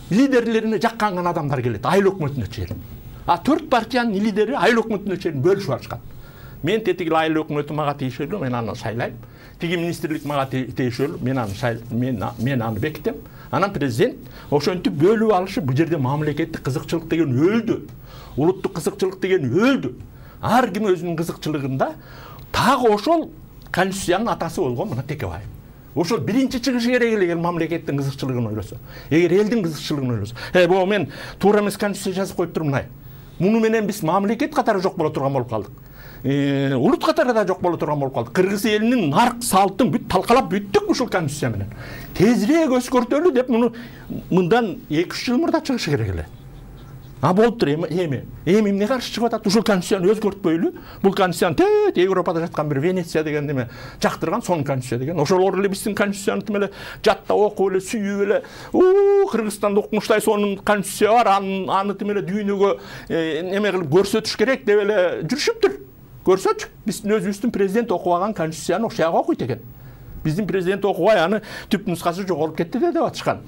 лидерлерине жакканган адамдар келет, айыл өкмөтүнө чейин. А төрт партиянын лидери айыл өкмөтүнө чейин бөлүшүп алышкан. Мен тетиги айыл өкмөтү мага тийишелүү, мен аны шайлайм. Тиги министрлик мага тийишелүү, мен аны мен мен аны бекитем. Анан президент ошентип бөлүп алышы бул жерде мамлекеттик кызыкчылык деген өлдү. Улуттук кызыкчылык деген өлдү. Ар ким өзүнүн кызыкчылыгында тагы ошол конституциянын атасы болгон мына Текебаев. Ошол биринчи чыгышы керек эле мамлекеттин кызыкчылыгын ойлосо. Эгер элдин кызыкчылыгын ойлосо. Э, бул мен туура эмес конституция жазып коюп турмун ай. Муну менен биз мамлекет катары жок боло турган болуп калдык. улут катары да жок боло турган болуп калды. Кыргыз элинин нарк салтын бүт талкалап бүттүк ушул конституция менен. Тезирээк өзгөртөлү деп муну мындан эки үч жыл мурда чыгышы керек эле. А болуптур эми эми эми эмне каршы чыгып атат? Ушул конституцияны өзгөртпөйлү. Бул конституцияны тет Европада жаткан бир Венеция деген неме жактырган сонун конституция деген. Ошолор эле биздин конституцияны тим эле жатта окуп эле сүйүп эле уу Кыргызстанда укмуштай сонун конституция бар, аны аны тим эле дүйнөгө неме кылып көрсөтүш керек деп эле жүрүшүптүр. Көрсөчү. Биздин өзүбүздүн президент окубаган конституцияны ошого окуйт экен. Биздин президент окубай аны түп нускасы жоголуп кетти деп атышкан.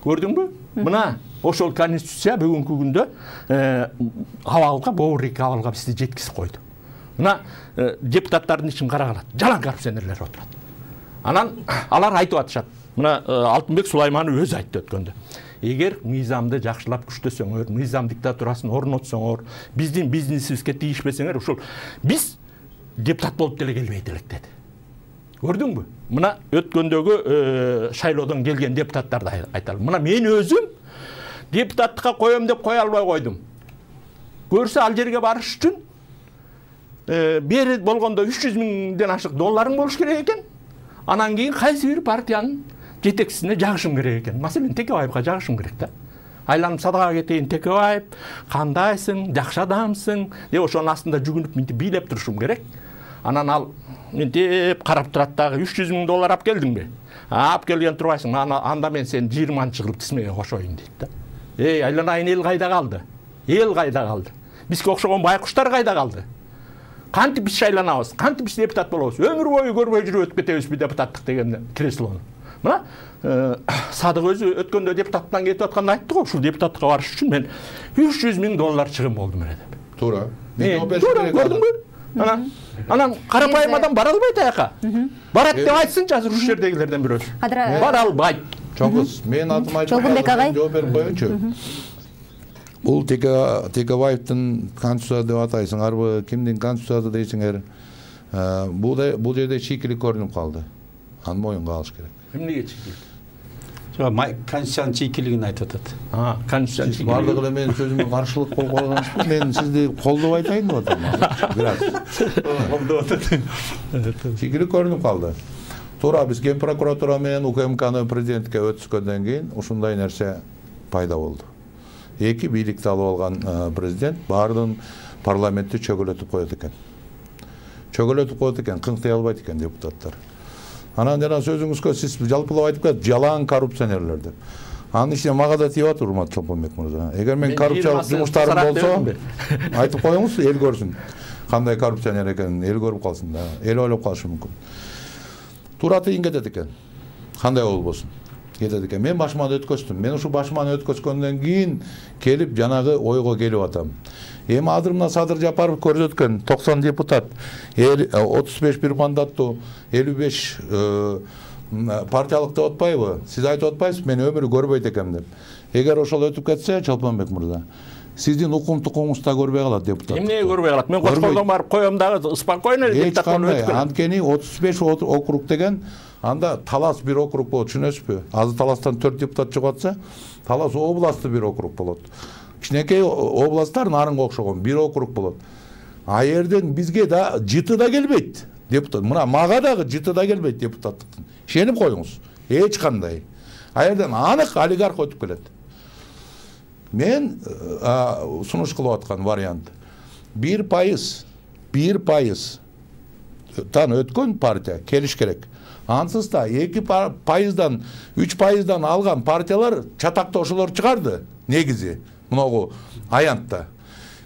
Көрдүңбү? Мына ошол конституция бүгүнкү күндө абалга, боорик абалга бизди жеткизип койду. Мына депутаттардын ишин карагалат. Жалаң коррупционерлер отурат. Анан алар айтып атышат. Мына Алтынбек Сулайманов өзү айтты өткөндө. Эгер мыйзамды жакшылап күчтөсөңөр, мыйзам диктатурасын орнотсоңор, биздин бизнесибизге тийишпесеңер, ушул биз депутат болуп деле келбейт элек деди. Көрдүңбү? Мына өткөндөгү шайлоодон келген депутаттарды айталым. Мына мен өзүм депутаттыкка коем деп кое албай койдум. Көрсө ал жерге барыш үчүн бери болгондо үч жүз миңден ашык долларың болуш керек экен. Анан кийин кайсы бир партиянын жетекчисине жагышым керек экен. Маселен, Текебаевга жагышым керек да. Айланып садага кетейин, Текебаев, кандайсың, жакшы адамсың деп ошонун астында жүгүнүп мынтип бийлеп турушум керек. Анан ал мынтип карап турат дагы үч жүз миң доллар алып келдиңби? Алып келген турбайсың. Анда мен сени жыйырманчы кылып тизмеге кошоюн дейт да. Эй, айланайын, эл кайда калды? Эл кайда калды? Бизге окшогон байкуштар кайда калды? Кантип биз шайланабыз? Кантип биз депутат болобуз? Өмүр бою көрбөй жүрүп өтүп кетебизби депутаттык деген креслону? Мына Садык өзү өткөндө депутаттан кетип атканда айтты го, ушул депутаттыкка барыш үчүн мен үч жүз миң доллар чыгым болдум эле деп. Туура. Туура, көрдүңбү? Анан анан карапайым адам бара албайт аяка. Барат деп айтсынчы азыр ушул жердегилерден бирөөсү. Бара албайт. Чоңгуз, мен атым айтып жооп берип коеюнчу. Бул Текебаевдин конституция деп атайсыңарбы, кимдин конституциясы дейсиңер? Бул бул жерде чийкилик көрүнүп калды. Аны моюнга алыш керек. Эмнеге чийкилик? Конституциянын чийкилигин айтып атат. А, конституциянын чийкилиги. Бардыгы эле менин сөзүмө каршылык болуп калгансызбы? Мен сизди колдоп айтайын деп атам. Бирок колдоп атат. Чийкилик көрүнүп калды. Туура, биз Ген прокуратура менен УКМКны президентке өткөндөн кийин ушундай нерсе пайда болду. Эки бийликти алып алган президент баардыгын парламентти чөгөлөтүп коет экен. Чөгөлөтүп коет экен, кыңкый албайт экен депутаттар. Анан жана сөзүңүзгө сиз жалпылап айтып кетип, жалаң коррупционерлер деп. Анын ичине мага да тийип атат, урматтуу Чолпонбек мырза. Эгер мен коррупциялык жумуштарым болсо, айтып коюңуз, эл көрсүн. Кандай коррупционер экенин эл көрүп калсын да. Эл ойлоп калышы мүмкүн. Туура тыйын кетет экен. Кандай болбосун. Кетет экен. Мен башыман өткөздүм. Мен ушу башыман өткөзгөндөн кийин келип жанагы ойго келип атам. Эми азыр мына Садыр Жапаров көрсөткөн токсон депутат, отуз беш бир мандаттуу элүү беш партиялык деп атпайбы? Сиз айтып атпайсызбы, мен өмүрү көрбөйт экем деп. Эгер ошол өтүп кетсе, Чолпонбек мырза, сиздин укум-тукумуңуз да көрбөй калат депутат. Эмнеге көрбөй калат? Мен Кошкордон барып коем дагы спокойно депутат болуп өткөн. Анткени отуз беш округ деген анда Талас бир округ болот, түшүнөсүзбү? Азыр Таластан төрт депутат чыгып атса, Талас областы бир округ болот. Кичинекей областтар нарынга окшогон бир округ болот. А жерден бизге да жыты да келбейт депутат. Мына мага дагы жыты да келбейт депутаттыктын. Ишенип коюңуз. Эч кандай. А жерден анык олигарх өтүп келет. Мен сунуш кылып аткан вариант бир пайыз, бир пайыз тан өткөн партия келиш керек. Ансыз да эки пайыздан, үч пайыздан алган партиялар чатакта ошолор чыгарды. Негизи мынагу аянтта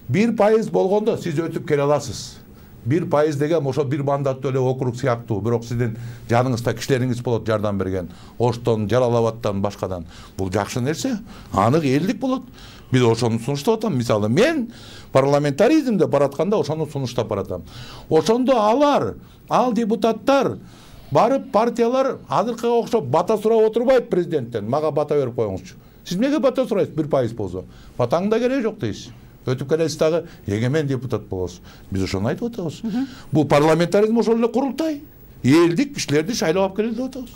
бир пайыз болгондо сиз өтүп келе аласыз. бир пайыз деген ошо бир мандаттуу эле округ сыяктуу, бирок сиздин жаныңызда кишилериңиз болот жардам берген. Оштон, Жалал-Абадтан, башкадан. Бул жакшы нерсе, анык элдик болот. Биз ошону сунуштап атам. Мисалы, мен парламентаризмде баратканда ошону сунуштап баратам. Ошондо алар, ал депутаттар барып партиялар азыркыга окшоп бата сурап отурбайт президенттен. Мага бата берип коюңузчу. Сиз эмнеге бата сурайсыз бир пайыз болсо? Батаңын да кереги жок дейсиз. Өтүп келесиз дагы эгемен депутат болосуз. Биз ошону айтып атабыз. Бул парламентаризм ошол эле курултай. Элдик кишилерди шайлап алып келели деп атабыз.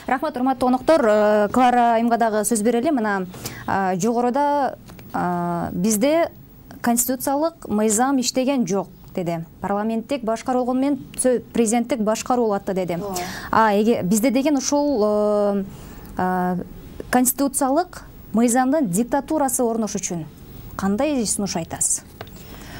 Рахмат, урматтуу коноктор. Клара айымга дагы сөз берели. Мына жогоруда бизде конституциялык мыйзам иштеген жок. деди. Парламенттик башкаруу болгону менен президенттик башкаруу болот деди. А эге бизде деген ушул конституциялык мыйзамдын диктатурасы орнош үчүн кандай сунуш айтасыз?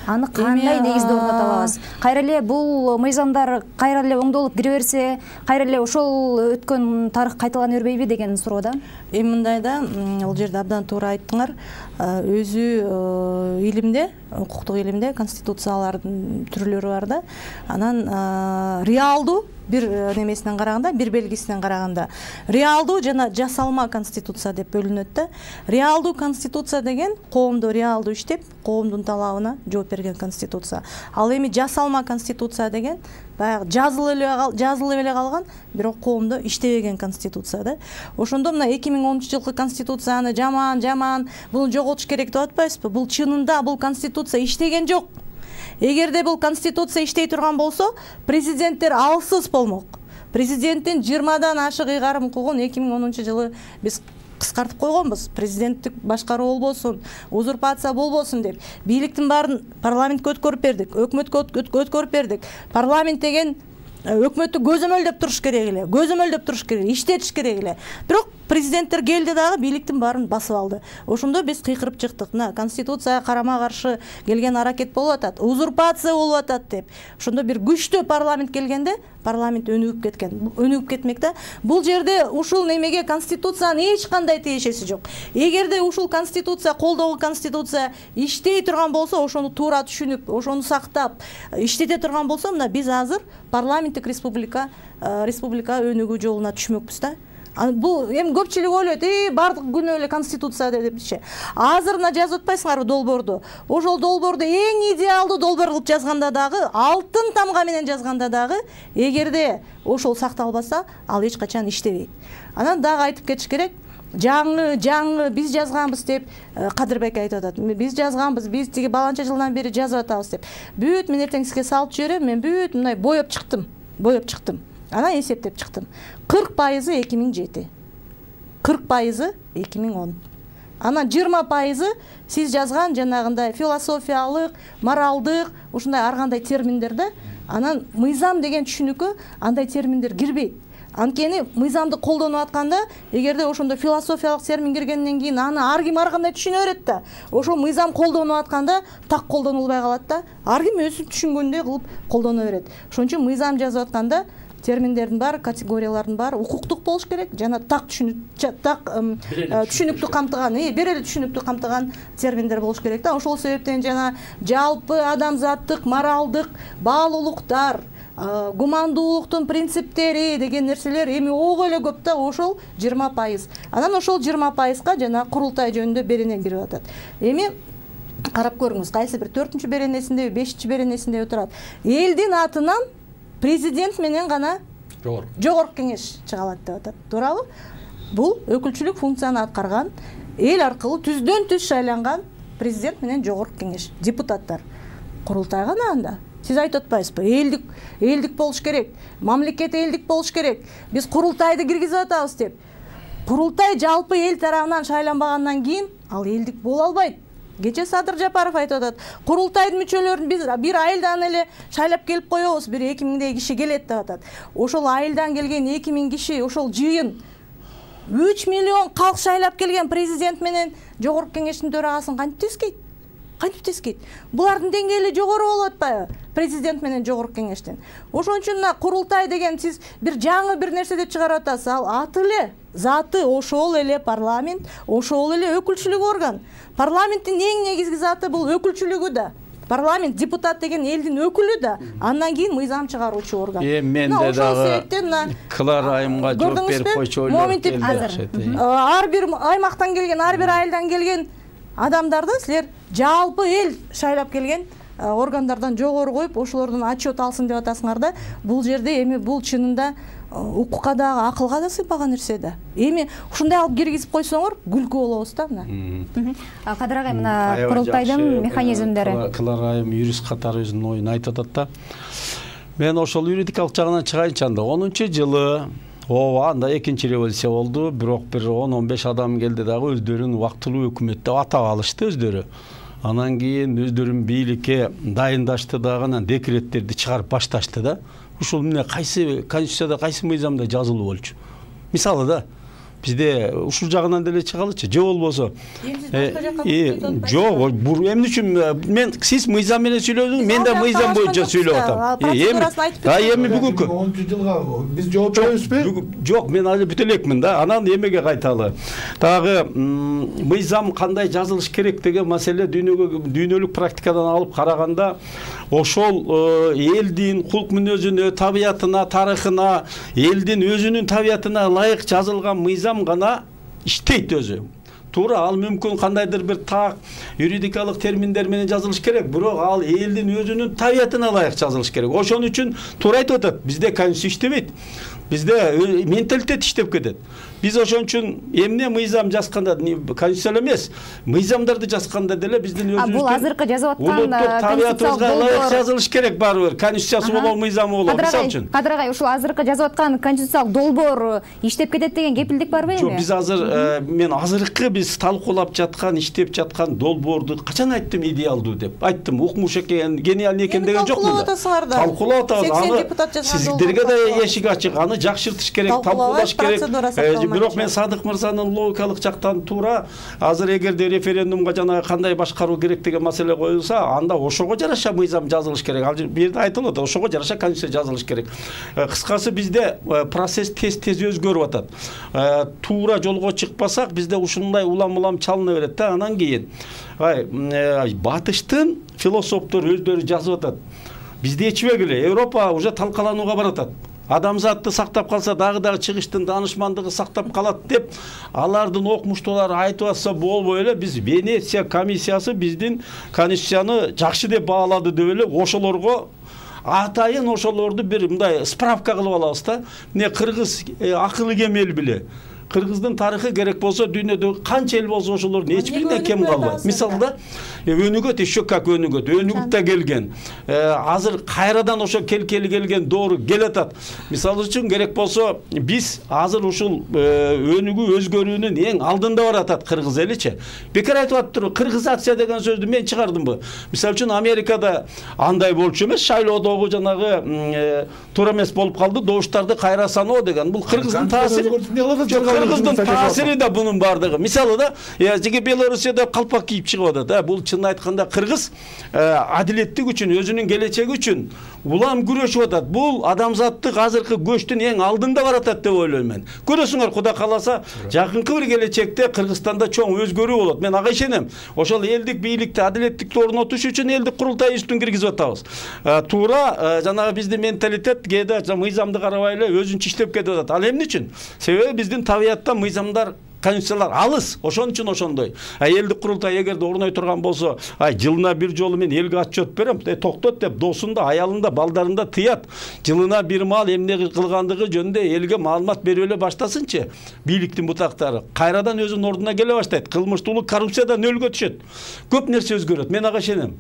Аны кандай негизде орното алабыз? Кайра эле бул мыйзамдар кайра эле оңдолуп кире берсе, кайра эле ошол өткөн тарых кайталана бербейби деген суроо да. Эми мындай да, бул жерде абдан туура айттыңар. Өзү илимде, укуктук илимде конституциялардын түрлөрү бар да. Анан реалдуу бир немесинен караганда, бир белгисинен караганда реалдуу жана жасалма конституция деп бөлүнөт да. Реалдуу конституция деген коомдо реалдуу иштеп, коомдун талабына жооп берген конституция. Ал эми жасалма конституция деген баягы жазылып эле жазылып эле калган, бирок коомдо иштебеген конституция да. Ошондо мына эки миң онунчу жылкы конституцияны жаман, жаман, буну жоготуш керек деп атпайсызбы? Бул чынында бул конституция иштеген жок. Эгерде бул конституция иштей турган болсо, президенттер алсыз болмок. Президенттин жыйырмадан ашык ыйгарым укугун эки миң онунчу жылы биз кыскартып койгонбуз. Президенттик башкаруу болбосун, узурпация болбосун деп. Бийликтин баарын парламентке өткөрүп бердик, өкмөткө өткөрүп бердик. Парламент деген өкмөттү көзөмөлдөп туруш керек эле, көзөмөлдөп туруш керек, иштетиш керек эле. Бирок президенттер келди дагы бийликтин баарын басып алды. Ошондо биз кыйкырып чыктык. Мына конституцияга карама каршы келген аракет болуп атат, узурпация болуп атат деп. Ошондо бир күчтүү парламент келгенде парламент өнүгүп кеткен, өнүгүп кетмек да. Бул жерде ушул немеге конституциянын эч кандай тиешеси жок. Эгерде ушул конституция, колдогу конституция иштей турган болсо, ошону туура түшүнүп, ошону сактап, иштете турган болсо, мына биз азыр парламенттик республика, республика өнүгүү жолуна түшмөкпүз да. Бул эми көпчүлүк ойлойт, э бардык күнөө эле конституция депчи. Азыр мына жазып атпайсыңарбы долбоорду? Ошол долбоорду эң идеалдуу долбоор кылып жазганда дагы, алтын тамга менен жазганда дагы, эгерде ошол сакталбаса, ал эч качан иштебейт. Анан дагы айтып кетиш керек. Жаңы, жаңы биз жазганбыз деп Кадырбек айтып атат. Биз жазганбыз, биз тиги баланча жылдан бери жазып атабыз деп. Бүт мен эртең сизге салып жиберем, мен бүт мындай боеп чыктым. Боеп чыктым. Анан эсептеп чыктым. кырк пайызы эки миң жети. кырк пайызы эки миң он. Анан жыйырма пайызы сиз жазган жанагындай философиялык, моралдык, ушундай ар кандай терминдер да. Анан мыйзам деген түшүнүккө андай терминдер кирбейт. Анткени мыйзамды колдонуп атканда, эгерде ошондо философиялык термин киргенден кийин аны ар ким ар кандай түшүнө берет да. Ошол мыйзам колдонуп атканда так колдонулбай калат да. Ар ким өзү түшүнгөндөй кылып колдоно берет. Ошон үчүн мыйзам жазып атканда терминдердин баары, категориялардын баары укуктук болуш керек, жана так түшүнүк, так түшүнүктүү камтыган, бир эле түшүнүктүү камтыган терминдер болуш керек да. Ошол себептен жана жалпы адамзаттык, моралдык баалуулуктар, гумандуулуктун принциптери деген нерселер эми ого эле көп да, ошол жыйырма пайыз. Анан ошол жыйырма пайызга жана курултай жөнүндө берене кирип атат. Эми карап көрүңүз, кайсы бир төртүнчү беренесинде, бешинчи беренесинде турат. Элдин атынан президент менен гана жогорку кеңеш чыга алат деп атат. Туурабы? Бул өкүлчүлүк функцияны аткарган, эл аркылуу түздөн түз шайланган президент менен жогорку кеңеш, депутаттар. Курултай гана анда. Сиз айтып атпайсызбы? Элдик, элдик болуш керек, мамлекет элдик болуш керек. Биз курултайды киргизип атабыз деп. Курултай жалпы эл тарабынан шайланбагандан кийин ал элдик боло албайт. Кече Садыр Жапаров айтып атат. Курултайдын мүчөлөрүн биз бир айылдан эле шайлап келип коебуз, бир эки миңдей киши келет деп атат. Ошол айылдан келген эки миң киши, ошол жыйын үч миллион калк шайлап келген президент менен жогорку кеңештин төрагасын кантип тескейт? Кантип тескейт? Булардын деңгээли жогору болуп атпайбы? Президент менен жогорку кеңештен. Ошон үчүн мына курултай деген сиз бир жаңы бир нерсе деп чыгарып атасыз. Ал аты эле, заты ошол эле парламент, ошол эле өкүлчүлүк орган. Парламенттин эң негизги заты бул өкүлчүлүгү да. Парламент, депутат деген элдин өкүлү да. Андан кийин мыйзам чыгаруучу орган. Э мен да дагы Клара айымга жооп берип койчу ойлор. Ар бир аймактан келген, ар бир айылдан келген адамдарды силер жалпы эл шайлап келген органдардан жогору коюп, ошолордун отчет алсын деп атасыңар да. Бул жерде эми бул чынында укукка дагы, акылга да сыйпаган нерсе да. Эми ушундай алып киргизип койсоңор күлкү болобуз да мына. Кадыр агай, мына курултайдын механизмдери. Клара айым юрист катары өзүнүн оюн айтып атат да. Мен ошол юридикалык жагынан чыгайынчы анда. онунчу жылы ооба анда экинчи революция болду, бирок бир он он беш адам келди дагы өздөрүн убактылуу өкмөт деп атап алышты өздөрү. Анан кийин өздөрүн бийликке дайындашты дагы, анан декреттерди чыгарып башташты да. Ушул эмне кайсы конституцияда, кайсы мыйзамда жазылуу болчу? Мисалы да, бизде ушул жагынан деле чыгалычы, же болбосо жок, эмне үчүн мен сиз мыйзам менен сүйлөдүңүз, мен да мыйзам боюнча сүйлөп атам. Эми бүгүнкү онунчу жылга биз жооп беребизби? Жок, мен али бүтө элекмин да. Анан эмеге кайталы. Дагы мыйзам кандай жазылыш керек деген маселе дүйнөгө дүйнөлүк практикадан алып караганда ошол элдин кулк мүнөзүнө, табиятына, тарыхына, элдин өзүнүн табиятына ылайык жазылган мыйзам гана иштейт өзү. Туура, ал мүмкүн кандайдыр бир так юридикалык терминдер менен жазылыш керек, бирок ал элдин өзүнүн табиятына ылайык жазылыш керек. Ошон үчүн туура айтып атат, бизде конституция иштебейт. Бизде менталитет иштеп кетет. Биз ошон үчүн эмне мыйзам жазганда, конституция эмес, мыйзамдарды жазганда деле биздин өзүбүздүн бул азыркы жазып аткан табиятыбызга ылайык жазылыш керек барыбыр. Конституциясы болобу, мыйзамы болобу, мисалы үчүн. Кадыр агай, ушул азыркы жазып аткан конституциялык долбоор иштеп кетет деген кепилдик барбы эми? Жок, биз азыр мен азыркы биз талкуулап жаткан, иштеп жаткан долбоорду качан айттым идеалдуу деп. Айттым, укмуш экен, гениальный экен деген жок мында. Талкуулап атасыңар да. сексен депутат жазган сиздерге да эшик ачык. Аны жакшыртыш керек, талкуулаш керек. Бирок мен Садык мырзанын логикалык жактан туура, азыр эгерде референдумга жана кандай башкаруу керек деген маселе коюлса, анда ошого жараша мыйзам жазылыш керек. Ал бул жерде айтылып атат, ошого жараша конституция жазылыш керек. Кыскасы бизде процесс тез-тез өзгөрүп атат. Туура жолго чыкпасак, бизде ушундай улам-улам чалына берет да. Анан кийин батыштын философтору өздөрү жазып атат. Бизде эчбегиле, Европа уже талкаланууга баратат. Адамзатты сактап калса дагы дагы чыгыштын даанышмандыгы сактап калат деп алардын окумуштуулары айтып атса болбой эле, биз Венеция комиссиясы биздин конституцияны жакшы деп баалады деп эле ошолорго атайын ошолорду бир мындай справка кылып алабыз да. Эмне кыргыз акылы кем эл биле. Кыргыздын тарыхы керек болсо дүйнөдө канча эл болсо ошолордун эч биринен кем калбайт. Мисалы да өнүгөт, еще как өнүгөт, өнүгүп да келген. Азыр кайрадан ошо келкели келген доору келатат. Мисалы үчүн керек болсо биз азыр ушул өнүгүү өзгөрүүнүн эң алдында баратат кыргыз эличи. Бекер айтып атыптыр, кыргызация деген сөздү мен чыгардымбы? Мисалы үчүн Америкада андай болчу эмес, шайлоодогу жанагы туура эмес болуп калды, добуштарды кайра саноо деген. Бул кыргыздын таасири. Кыргыздын таасири да бунун бардыгы. Мисалы да, жеке Белоруссияда калпак кийип чыгып атат. Бул чын айтканда кыргыз адилеттик үчүн, өзүнүн келечеги үчүн улам күрөшүп атат. Бул адамзаттык азыркы көчтүн эң алдында баратат деп ойлойм мен. Көрөсүңөр, Кудай кааласа, жакынкы бир келечекте Кыргызстанда чоң өзгөрүү болот. Мен ага ишенем. Ошол элдик бийликти, адилеттикти орнотуш үчүн элдик курултай үстүн киргизип атабыз. Туура жанагы биздин менталитет кээде мыйзамды карабай эле өзүнчө иштеп кетип атат. Ал эмне үчүн? Себеби биздин табиятта мыйзамдар, конституциялар алыс, ошон үчүн ошондой. Элдик курултай эгерде орной турган болсо, ай жылына бир жолу мен элге отчет берем, токтот деп досунда, аялында, балдарында тыят. Жылына бир маал эмне кылгандыгы жөнүндө элге маалымат берип эле баштасынчы. Бийликтин бутактары кайрадан өзүнүн ордуна келе баштайт. Кылмыштуулук, коррупциядан нөлгө түшөт. Көп нерсе өзгөрөт. Мен ага ишенем.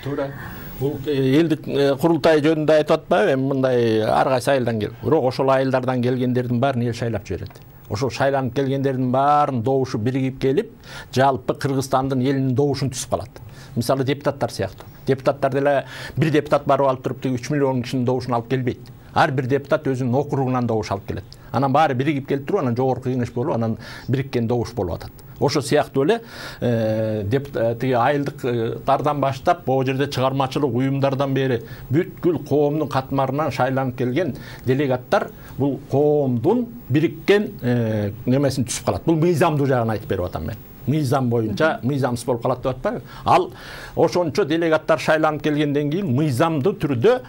Туура. Бул элдик курултай жөнүндө айтып атпайбы, эми мындай ар кайсы айылдан кел. Бирок ошол айылдардан келгендердин баарын эл шайлап жиберет. Ошол шайланып келгендердин баарын добушу биригип келип, жалпы Кыргызстандын элинин добушун түзүп калат. Мисалы депутаттар сыяктуу. Депутаттар деле бир депутат барып алып туруп үч миллион кишинин добушун алып келбейт. Ар бир депутат өзүнүн округунан добуш алып келет. Анан баары биригип келип туруп, анан жогорку кеңеш болуп, анан бириккен добуш болуп атат. Ошо сыяктуу эле тиги айылдыктардан баштап, бул жерде чыгармачылык уюмдардан бери бүткүл коомдун катмарынан шайланып келген делегаттар бул коомдун бириккен немесин түзүп калат. Бул мыйзамдуу жагын айтып берип атам мен. Мыйзам боюнча мыйзамсыз болуп калат деп атпайбы? Ал ошончо делегаттар шайланып келгенден кийин мыйзамдуу түрдө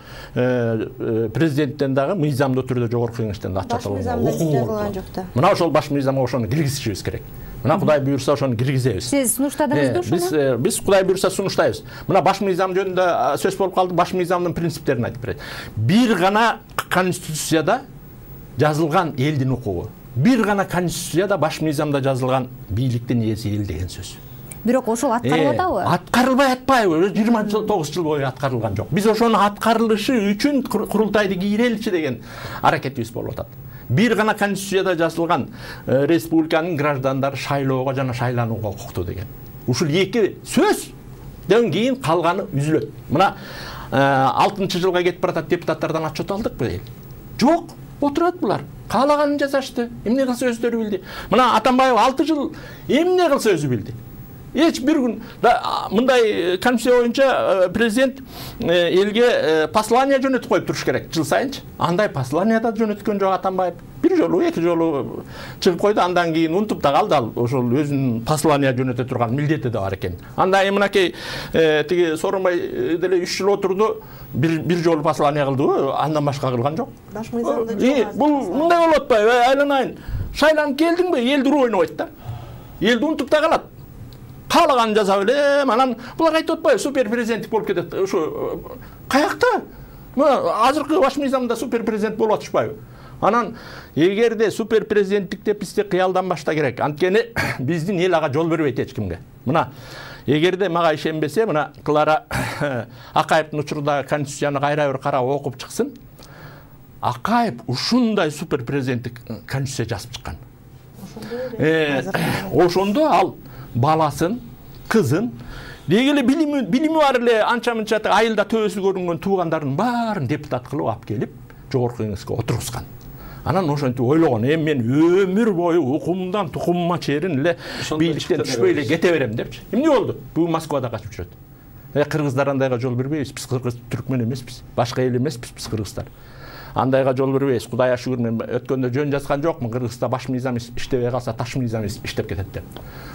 президенттен дагы мыйзамдуу түрдө жогорку кеңештен да баш мыйзамда жазылган жок да. Мына ошол баш мыйзамга ошону киргизишибиз керек. Мына Кудай буйрса ошону киргизебиз. Сиз сунуштадыңызбы ошону? Биз биз Кудай буйрса сунуштайбыз. Мына баш мыйзам жөнүндө сөз болуп калды, баш мыйзамдын принциптерин айтып берет. Бир гана конституцияда жазылган элдин укугу. Бир гана конституцияда баш мыйзамда жазылган бийликтин ээси эл деген сөз. Бирок ошол аткарылып атабы? Аткарылбай атпайбы? жыйырма тогуз жыл бою аткарылган жок. Биз ошону аткарылышы үчүн курултайды кийреличи деген аракетибиз болуп атат. Бир гана конституцияда жазылган республиканын граждандары шайлоого жана шайланууга укуктуу деген. ушул эки сөздөн кийин калганы үзүлөт. Мына алтынчы жылга кетип баратат, депутаттардан отчет алдыкпы? Жок, отурат булар. Каалаганын жасашты. Эмне кылса өздөрү билди. Мына Атамбаев алты жыл эмне кылса өзү билди. Эч бир күн мындай конституция боюнча президент элге послание жөнөтүп коюп туруш керек жыл сайынчы. Андай послание да жөнөткөн жок Атамбаев. Бир жолу, эки жолу чыгып койду, андан кийин унутуп да калды ал ошол өзүнүн послание жөнөтө турган милдети да бар экен. Анда мынакей тиги Сооронбай деле үч жыл отурду, бир бир жолу послание кылдыбы, андан башка кылган жок. Баш мыйзамда жок. Бул мындай болуп атпайбы? Айланайын. Шайланып келдиңби? Элди ойнобойт да. Элди унутуп да калат. Каалаганын жасап элем, анан булар айтып атпайбы? Супер президенттик болуп кетет. Ошо каякта? Азыркы баш мыйзамда супер президент болуп атышпайбы? Анан эгерде супер президенттик деп бизде кыялданбашта керек. Анткени биздин эл ага жол бербейт эч кимге. Мына эгерде мага ишенбесе, мына Клара Акаевдин учурда конституцияны кайра бир карап окуп чыксын. Акаев ушундай супер президенттик конституция жазып чыккан. Ошондо ал баласын, кызын, дегеле билими билими бар эле анча-мынча айылда төбөсү көрүнгөн туугандарын баарын депутат кылып алып келип, жогорку кеңеске отургузган. Анан ошентип ойлогон, эми мен өмүр бою укумдан тукумума чейин эле бийликтен түшпөй эле кете берем депчи. Эмне болду? Бүгүн Москвада качып жүрөт. Э кыргыздар андайга жол бербейбиз. Биз кыргыз түркмөн эмеспиз. Башка эл эмеспиз биз кыргыздар. Андайга жол бербейбиз. Кудайга шүгүр, мен өткөндө жөн жазган жокмун. Кыргызда баш мыйзам иштебей калса таш мыйзам иштеп кетет деп.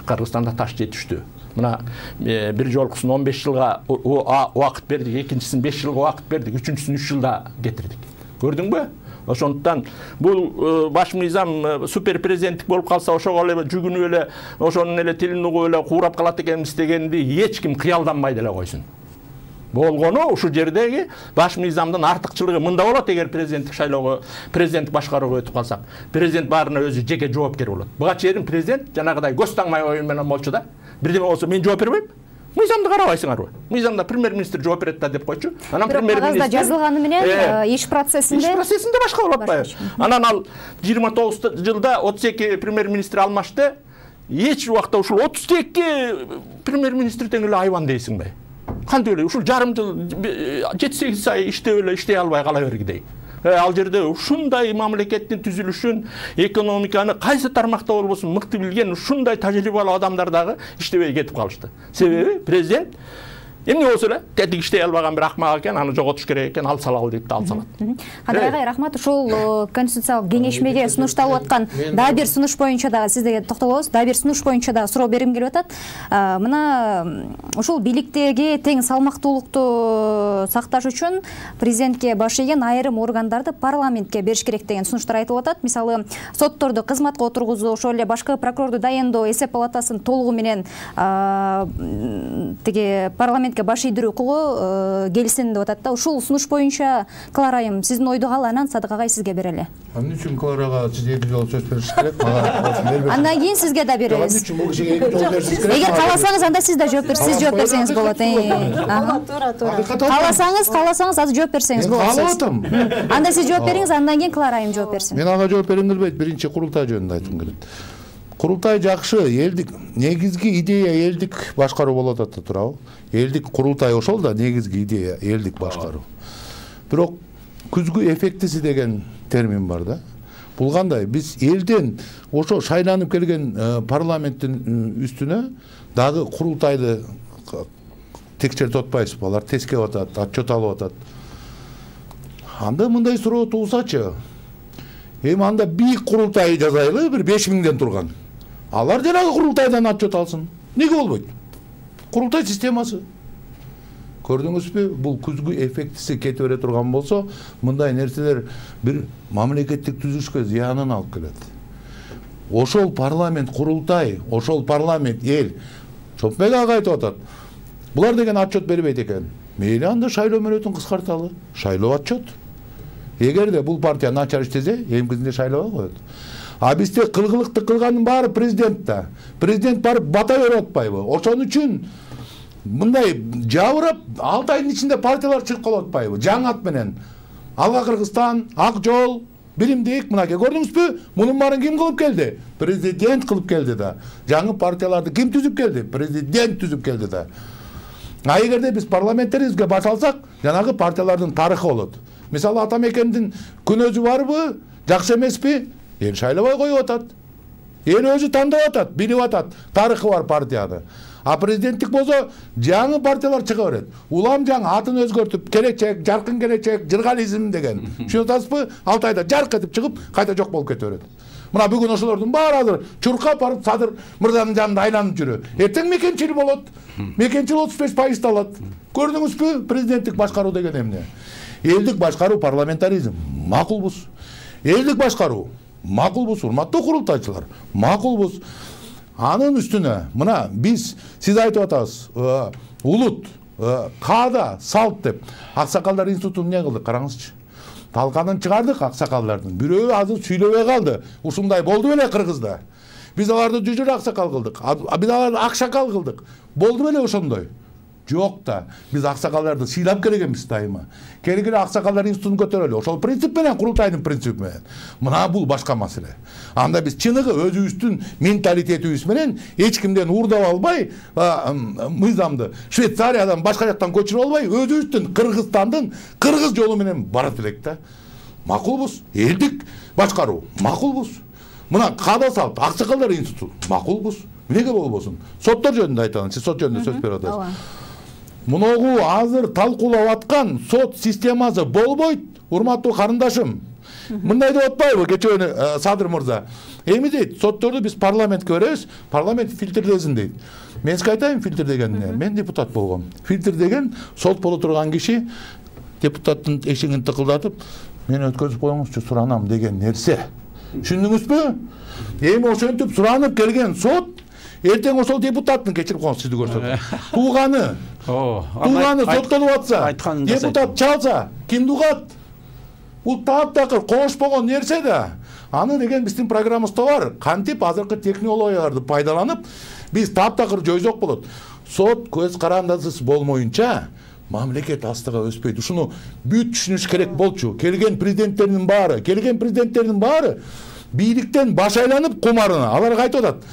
Кыргызстанда таш жетиштүү. Мына бир жолкусун он беш жылга убакыт бердик, экинчисин беш жылга убакыт бердик, үчүнчүсүн үч жылда кетирдик. Көрдүңбү? Ошондуктан бул баш мыйзам супер президенттик болуп калса ошого эле жүгүнүп эле ошонун эле тилин угуп эле куурап калат экенбиз дегенди эч ким кыялданбай деле койсун. Болгону ушул жердеги баш мыйзамдын артыкчылыгы мында болот. Эгер президенттик шайлоого, президенттик башкарууга өтүп калсак, президент баарына өзү жеке жоопкер болот. Буга чейин президент жанагыдай көз таңмай оюн менен болчу да. Бирдеме болсо мен жооп бербейм. Мыйзамды карабайсыңарбы? Мыйзамда премьер-министр жооп берет да деп койчу. Анан премьер-министр жазылганы менен иш процессинде иш процессинде башка болуп атпайбы? Анан ал жыйырма тогуз жылда отуз эки премьер-министр алмашты. Эч убакта ушул отуз эки премьер-министр тең эле айбан дейсиңби? Кантип эле ушул жарым жыл жети сегиз ай иштеп эле иштей албай кала бергидей. Ал жерде ушундай мамлекеттин түзүлүшүн, экономиканы кайсы тармакта болбосун мыкты билген ушундай тажрыйбалуу адамдар дагы иштебей кетип калышты. Себеби президент эмне болсо эле тетик иштей албаган бир акмак экен, аны жоготуш керек экен, ал салалы дейт да, ал салат. Кадыр агай, рахмат. Ушул конституциялык кеңешмеге сунушталып аткан дагы бир сунуш боюнча дагы сизге токтолобуз. Дагы бир сунуш боюнча дагы суроо бергим келип атат. Мына ушул бийликтеги тең салмактуулукту сакташ үчүн президентке баш ийген айрым органдарды парламентке бериш керек деген сунуштар айтылып атат. Мисалы, сотторду кызматка отургузуу, ошол эле башкы прокурорду дайындоо, эсеп палатасын толугу менен тиги парламент баш ийдирүү укугу келсин деп атат да. Ушул сунуш боюнча Клара айым, сиздин ойду кал, анан Садык агай сизге берели. Эмне үчүн Кларага сиз эки жолу сөз беришиңиз керек? Андан кийин сизге да беребиз. Бул кишиге эки жолу беришиңиз керек. Эгер кааласаңыз, анда сиз да жооп берсеңиз, жооп берсеңиз болот. Туура, туура. Кааласаңыз, кааласаңыз азыр жооп берсеңиз болот. Каалап атам. Анда сиз жооп бериңиз, андан кийин Клара айым жооп берсин. Мен ага жооп бергим келбейт. Биринчи курултай жөнүндө айткым келет. Курултай жакшы, элдик негизги идея элдик башкаруу болуп атат, туурабы? Элдик курултай ошол да негизги идея элдик башкаруу. Бирок күзгү эффектиси деген термин бар да. Бул кандай? Биз элден ошо шайланып келген парламенттин үстүнө дагы курултайды текшертип атпайбызбы? Алар тескеп атат, отчет алып атат. Анда мындай суроо туулсачы. Эми анда бийик курултай жазайлы, бир беш миңден турган. Алар жанагы курултайдан отчет алсын. Неге болбойт? Курултай системасы. Көрдүңүзбү? Бул күзгү эффектиси кете бере турган болсо, мындай нерселер бир мамлекеттик түзүлүшкө зыянын алып келет. Ошол парламент курултай, ошол парламент эл Чопмек ага айтып атат. Булар деген отчет бербейт экен. Мейли анда шайлоо мөөнөтүн кыскарталы. Шайлоо отчет. Эгерде бул партия начар иштесе, эмкизинде шайлоо коет. А бизде кылгылыкты кылганын баары президент да. Президент барып бата берип атпайбы? Ошон үчүн мындай жабырап алты айдын ичинде партиялар чыгып калып атпайбы? Жаңы ат менен. Алга Кыргызстан, Ак жол, билимдик, мынакей көрдүңүзбү? Мунун баарын ким кылып келди? Президент кылып келди да. Жаңы партияларды ким түзүп келди? Президент түзүп келди да. А эгерде биз парламенттерибизге баш алсак, жанагы партиялардын тарыхы болот. Мисалы Атамекендин күнөөзү барбы? Жакшы эмеспи? Эл шайлабай коюп атат. Эл өзү тандап атат, билип атат. Тарыхы бар партияны. А президенттик болсо жаңы партиялар чыга берет. Улам жаңы атын өзгөртүп, келечек, жаркын келечек, жыргализм деген. Түшүнүп атасызбы? алты айда жарк этип чыгып, кайта жок болуп кете берет. Мына бүгүн ошолордун баары азыр чуркап барып Садыр мырзанын жанында айланып жүрө. Эртең мекенчил болот. Мекенчил отуз беш пайызды алат. Көрдүңүзбү? Президенттик башкаруу деген эмне? Элдик башкаруу парламентаризм. Макулбуз. Элдик башкаруу. Макулбуз, урматтуу курултайчылар. Макулбуз. Анын үстүнө мына биз сиз айтып атасыз, улут, каада, салт деп аксакалдар институтун эмне кылдык, караңызчы. Талканын чыгардык аксакалдардын. Бирөө азыр сүйлөбөй калды. Ушундай болду беле Кыргызда. Биз аларды жүжүр аксакал кылдык. Биз аларды акшакал кылдык. Болду беле ошондой? Жок да. Биз аксакалдарды сыйлап келгенбиз дайыма. Келгиле аксакалдар институтун көтөрөлү. Ошол принцип менен, курултайдын принципи менен. Мына бул башка маселе. Анда биз чыныгы өзүбүздүн менталитетибиз менен эч кимден уурдап албай, мыйзамды Швейцариядан башка жактан көчүрүп албай, өзүбүздүн Кыргызстандын кыргыз жолу менен барат элек да. Макулбуз, элдик башкаруу, макулбуз. Мына каада салт, аксакалдар институту, макулбуз. Эмнеге болбосун? Соттор жөнүндө айталын, сиз сот жөнүндө сөз берип атасыз. Муногу азыр талкуулап аткан сот системасы болбойт, урматтуу карындашым. Мындай деп атпайбы кечээ Садыр мырза? Эми дейт, сотторду биз парламентке беребиз, парламент фильтрлесин дейт. Мен сизге айтайын фильтр дегенди. Мен депутат болгом. Фильтр деген сот боло турган киши депутаттын эшигин тыкылдатып, мени өткөзүп коюңузчу, суранам деген нерсе. Түшүндүңүзбү? Эми ошентип суранып келген сот эртең ошол депутаттын, кечирип коюңуз, сизди көрсөтөм. Тууганы, тууганы соттолуп атса, депутат чалса, кимди угат? Бул таптакыр кошпогон нерсе да. Аны деген биздин программабызда бар. Кантип азыркы технологияларды пайдаланып, биз таптакыр жойсок болот. Сот көз карандысыз болмоюнча мамлекет астыга өспөйт. Ушуну бүт түшүнүш керек болчу. Келген президенттердин баары, келген президенттердин баары бийликтен баш айланып кумарына. Алар айтып атат.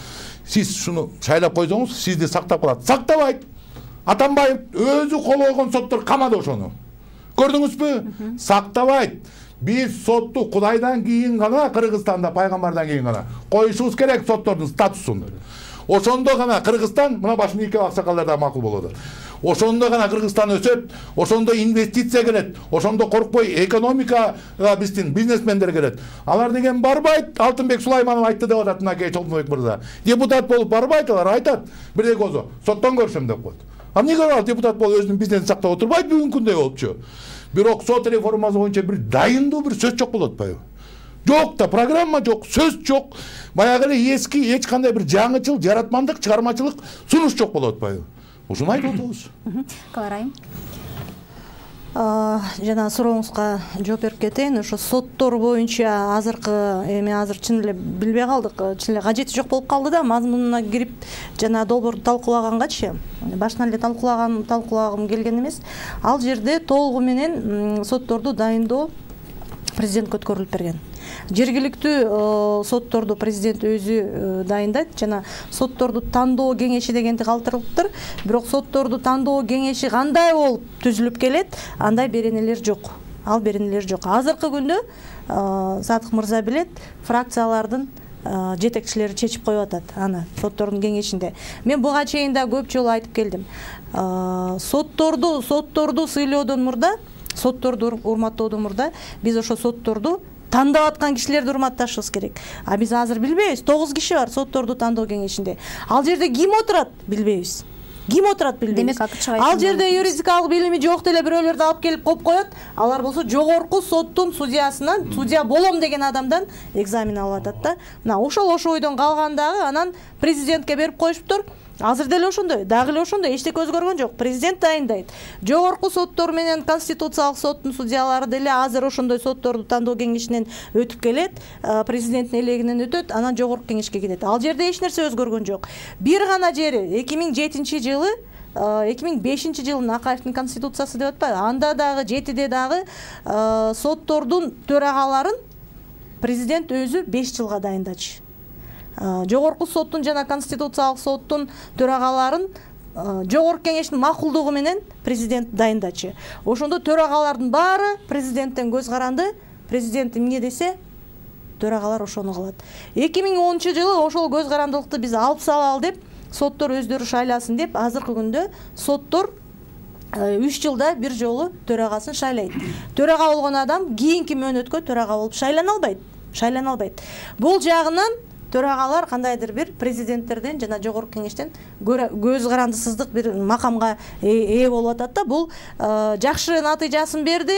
Сиз шуну шайлап койсоңуз, сизди сактап калат. Сактабайт. Атамбаев өзү кол койгон соттор камады ошону. Көрдүңүзбү? Сактабайт. Биз сотту Кудайдан кийин гана, Кыргызстанда пайгамбардан кийин гана коюшубуз керек соттордун статусун. Ошондо гана Кыргызстан, мына башында эки аксакалдарда макул болот. Ошондо гана Кыргызстан өсөт, ошондо инвестиция келет, ошондо коркпой экономика биздин бизнесмендер келет. Алар деген барбайт, Алтынбек Сулайманов айтты деп атат мына Чолтонбек мырза. Депутат болуп барбайт, алар айтат, бирдей козо, соттон көрсөм деп коет. А эмнеге ал депутат болуп өзүнүн бизнесин сактап отурбайт бүгүнкү күндөй болупчу? Бирок сот реформасы боюнча бир дайындуу бир сөз жок болуп атпайбы? Жок да, программа жок, сөз жок. Баягы эле эски эч кандай бир жаңычыл, жаратмандык, чыгармачылык сунуш жок болуп атпайбы? Ушуну айтып атабыз. Каларайым. Жана сурооңузга жооп берип кетейин. Ошо соттор боюнча азыркы эми азыр чын эле билбей калдык, чын эле кажети жок болуп калды да, мазмунуна кирип жана долбоорду талкуулагангачы, башынан эле талкуулаган талкуулагым келген эмес. Ал жерде толугу менен сотторду дайындоо президентке өткөрүлүп берген. Жергиликтүү сотторду президент өзү дайындайт жана сотторду тандоо кеңеши дегенди калтырылыптыр. Бирок сотторду тандоо кеңеши кандай болуп түзүлүп келет, андай беренелер жок. Ал беренелер жок. Азыркы күндө Садык мырза билет, фракциялардын жетекчилери чечип коюп атат аны соттордун кеңешинде. Мен буга чейин да көп жолу айтып келдим. Сотторду сотторду сыйлоодон мурда, сотторду урматтоодон мурда биз ошо сотторду тандап аткан кишилерди урматташыбыз керек. А биз азыр билбейбиз. тогуз киши бар сотторду тандоо кеңешинде. Ал жерде ким отурат? Билбейбиз. Ким отурат билбейбиз. Ал жерде юридикалык билими жок деле бирөөлөрдү алып келип коюп коет. Алар болсо жогорку соттун судьясынан, судья болом деген адамдан экзамен алып атат да. Мына ошол ошо ойдон калган дагы анан президентке берип коюшуптур. Азыр деле ошондой, дагы эле ошондой, эчтеке өзгөргөн жок. Президент дайындайт. Жогорку соттор менен Конституциялык соттун судьялары деле азыр ошондой сотторду тандоо кеңешинен өтүп келет, президенттин элегинен өтөт, анан жогорку кеңешке кетет. Ал жерде эч нерсе өзгөргөн жок. Бир гана жери эки миң жетинчи жылы, эки миң бешинчи жылдын Акаевдин конституциясы деп атпайбы? Анда дагы жетиде дагы соттордун төрагаларын президент өзү беш жылга дайындачу. Жогорку соттун жана конституциялык соттун төрагаларын жогорку кеңештин макулдугу менен президент дайындачу. Ошондо төрагалардын баары президенттен көз каранды, президент эмне десе төрагалар ошону кылат. эки миң онунчу жылы ошол көз карандылыкты биз алып салалы деп, соттор өздөрү шайласын деп, азыркы күндө соттор үч жылда бир жолу төрагасын шайлайт. Төрага болгон адам кийинки мөөнөткө төрага болуп шайлана албайт. Шайлана албайт. Бул жагынан төрагалар кандайдыр бир президенттерден жана жогорку кеңештен көз карандысыздык бир макамга ээ болуп атат да. Бул жакшы натыйжасын берди.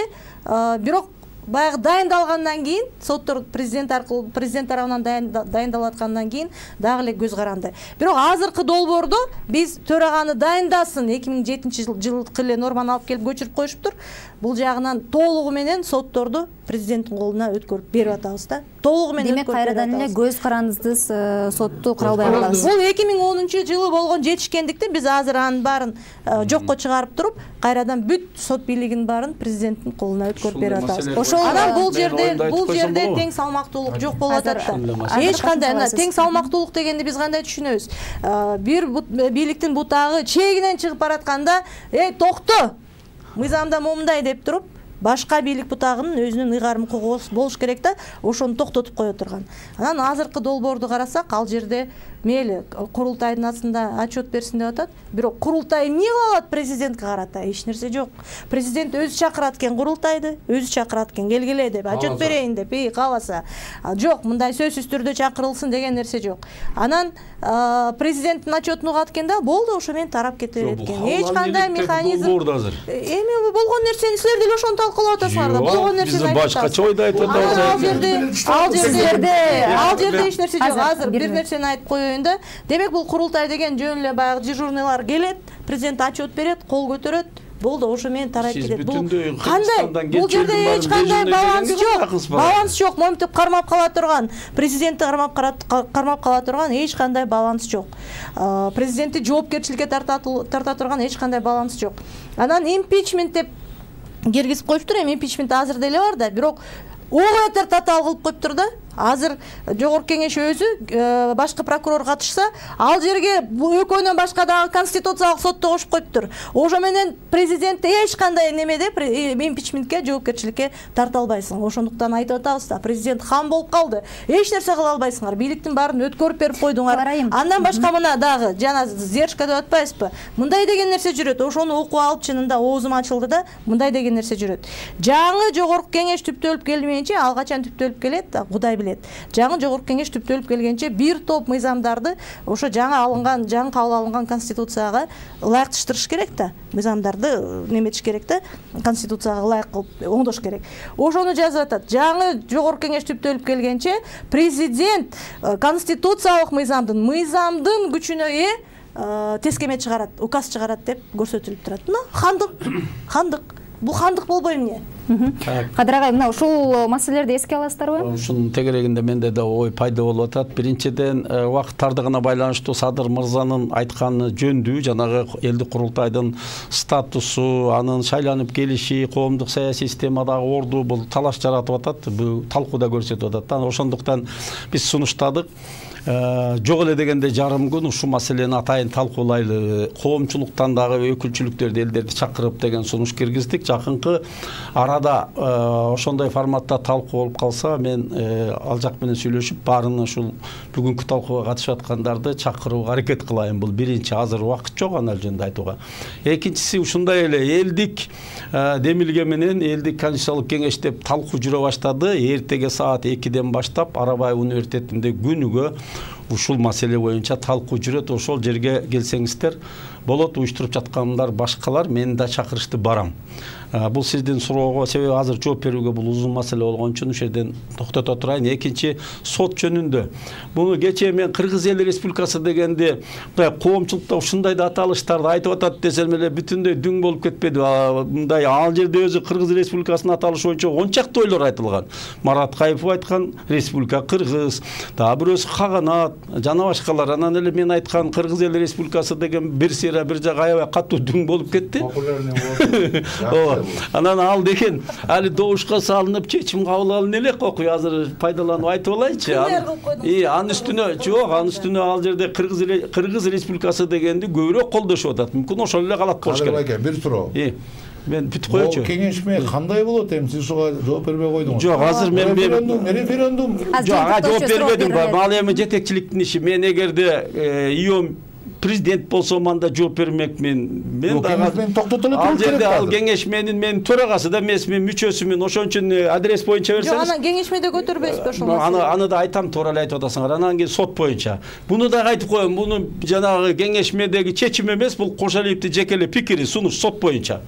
Бирок баягы дайындалгандан кийин соттор президент аркылуу президент тарабынан дайындалып аткандан кийин дагы эле көз каранды. Бирок азыркы долбоордо биз төраганы дайындасын эки миң жетинчи жылкы эле норманы алып келип көчүрүп коюшуптур. Бул жагынан толугу менен сотторду президенттин колуна өткөрүп берип атабыз да. Толугу менен демек кайрадан эле көз карандысыз сотту кура албай калабыз. Бул эки миң онунчу жылы болгон жетишкендиктен биз азыр анын баарын жокко чыгарып туруп, кайрадан бүт сот бийлигинин баарын президенттин колуна өткөрүп берип атабыз. Анан бул жерде бул жерде тең салмактуулук жок болуп атат да. Эч кандай тең салмактуулук дегенди биз кандай түшүнөбүз? Бир бийликтин бутагы чегинен чыгып баратканда, "Эй, токто! Мыйзамда момундай" деп туруп, башка бийлик бутагынын өзүнүн ыйгарым укугу болуш керек да, ошону токтотуп кое турган. Анан азыркы долбоорду карасак, ал жерде мейли курултайдын астында отчет берсин деп атат. Бирок курултай эмне кыла алат президентке карата? Эч нерсе жок. Президент өзү чакырат экен курултайды, өзү чакырат экен, келгиле деп, отчет берейин деп, эй, кааласа. Жок, мындай сөзсүз түрдө чакырылсын деген нерсе жок. Анан президенттин отчетун угат экен да, болду, ошо менен тарап кете берет экен. Эч кандай механизм. Эми болгон нерсени силер деле ошону талкуулап атасыңар да. Болгон нерсени айтып атасыңар. Башкача ойду айтып атабыз. Ал жерде, ал жерде, ал жерде эч нерсе жок. Азыр бир нерсени айтып коеюн. Демек бул курултай деген жөн эле баягы дежурныйлар келет, президент отчет берет, кол көтөрөт, болду, ошо менен тарайып кетет. Бул кандай? Бул жерде эч кандай баланс жок. Баланс жок. Моминтип кармап кала турган, президентти кармап кармап кала турган эч кандай баланс жок. Президентти жоопкерчиликке тарта турган эч кандай баланс жок. Анан импичмент деп киргизип коюптур, эми импичмент азыр деле бар да, бирок оңойтор татаал кылып коюптур да. Азыр жогорку кеңеш өзү башкы прокурор катышса, ал жерге экөөнөн башка дагы конституциялык сотто кошуп коюптур. Ошо менен президентти эч кандай немеде импичментке, жоопкерчиликке тарта албайсың. Ошондуктан айтып атабыз да, президент хам болуп калды. Эч нерсе кыла албайсыңар. Бийликтин баарын өткөрүп берип койдуңар. Андан башка мына дагы жана зершка деп атпайсызбы? Мындай деген нерсе жүрөт. Ошону окуп алып чынында оозум ачылды да, мындай деген нерсе жүрөт. Жаңы жогорку кеңеш түптөлүп келмейинче, ал качан түптөлүп келет да, Кудай билет. Жаңы жогорку кеңеш түптөлүп келгенче бир топ мыйзамдарды ошо жаңы алынган, жаңы кабыл алынган конституцияга ылайыкташтырыш керек да. Мыйзамдарды неметиш керек да, конституцияга ылайык кылып оңдош керек. Ошону жазып атат. Жаңы жогорку кеңеш түптөлүп келгенче президент конституциялык мыйзамдын, мыйзамдын күчүнө ээ тескеме чыгарат, указ чыгарат деп көрсөтүлүп турат. Мына хандык, хандык. Бул хандык болбой эмне? Кадыр агай, мына ушул маселелерди эске аласыздарбы? Ушунун тегерегинде менде да ой пайда болуп атат. Биринчиден, убакыт тардыгына байланыштуу Садыр мырзанын айтканы жөндүү, жанагы элдик курултайдын статусу, анын шайланып келиши, коомдук саясий системадагы орду бул талаш жаратып атат, бул талкууда көрсөтүп атат. Ошондуктан биз сунуштадык. Жок эле дегенде жарым күн ушул маселени атайын талкуулайлы, коомчулуктан дагы өкүлчүлүктөрдү, элдерди чакырып деген сунуш киргиздик. Жакынкы арада ошондой форматта талкуу болуп калса, мен ал жак менен сүйлөшүп, баарын ушул бүгүнкү талкууга катышып аткандарды чакырууга аракет кылайын. Бул биринчи, азыр убакыт жок анал жөнүндө айтууга. Экинчиси, ушундай эле элдик демилге менен элдик конституциялык кеңеш деп талкуу жүрө баштады. Эртеге саат экиден баштап Арабаев университетинде күнүгө ушул маселе боюнча талкуу жүрөт. Ошол жерге келсеңиздер болот. Уюштуруп жаткандар башкалар, мен да чакырышты барам. Бул сиздин суроого, себеби азыр жооп берүүгө бул узун маселе болгон үчүн ушул жерден токтото турайын. Экинчи, сот жөнүндө. Буну кечээ мен Кыргыз Эл Республикасы дегенде коомчулукта ушундай да аталыштарды айтып атат десем эле бүтүндөй дүң болуп кетпеди. Мындай ал жерде өзү Кыргыз Республикасынын аталышы боюнча он чакты ойлор айтылган. Марат Кайыпов айткан Республика Кыргыз, дагы бирөөсү Каганат, жана башкалар. Анан эле мен айткан Кыргыз Эл Республикасы деген бир сыйра бир жак аябай катуу дүң болуп кетти. Анан ал деген али добушка салынып чечим кабыл алына элек окуй азыр пайдаланып айтып алайынчы. И анын үстүнө жок, анын үстүнө ал жерде Кыргыз Кыргыз Республикасы дегенди көбүрөөк колдошуп атат. Мүмкүн ошол эле калат болуш керек. Кадыр бир суроо. Мен бүтүп коечу. Бул кеңешме кандай болот? Эми сиз ушуга жооп бербей койдуңуз. Жок, азыр мен референдум, референдум. Жок, жооп бербедим. Ал эми жетекчиликтин иши. Мен эгерде иом президент болсом анда жооп бермекмин. Мен дагы токтотуп эле ал жерде ал кеңешменин мен төрагасы да эмесмин, мүчөсүмүн. Ошон үчүн адрес боюнча берсеңиз. Жок, анан кеңешмеде көтөрбөйсүзбү ошол маселени? Аны аны да айтам, туура эле айтып атасыңар. Анан кийин сот боюнча. Буну да айтып коем. Буну жанагы кеңешмедеги чечим эмес, бул Кошалиевдин жеке эле пикири, сунуш сот боюнча.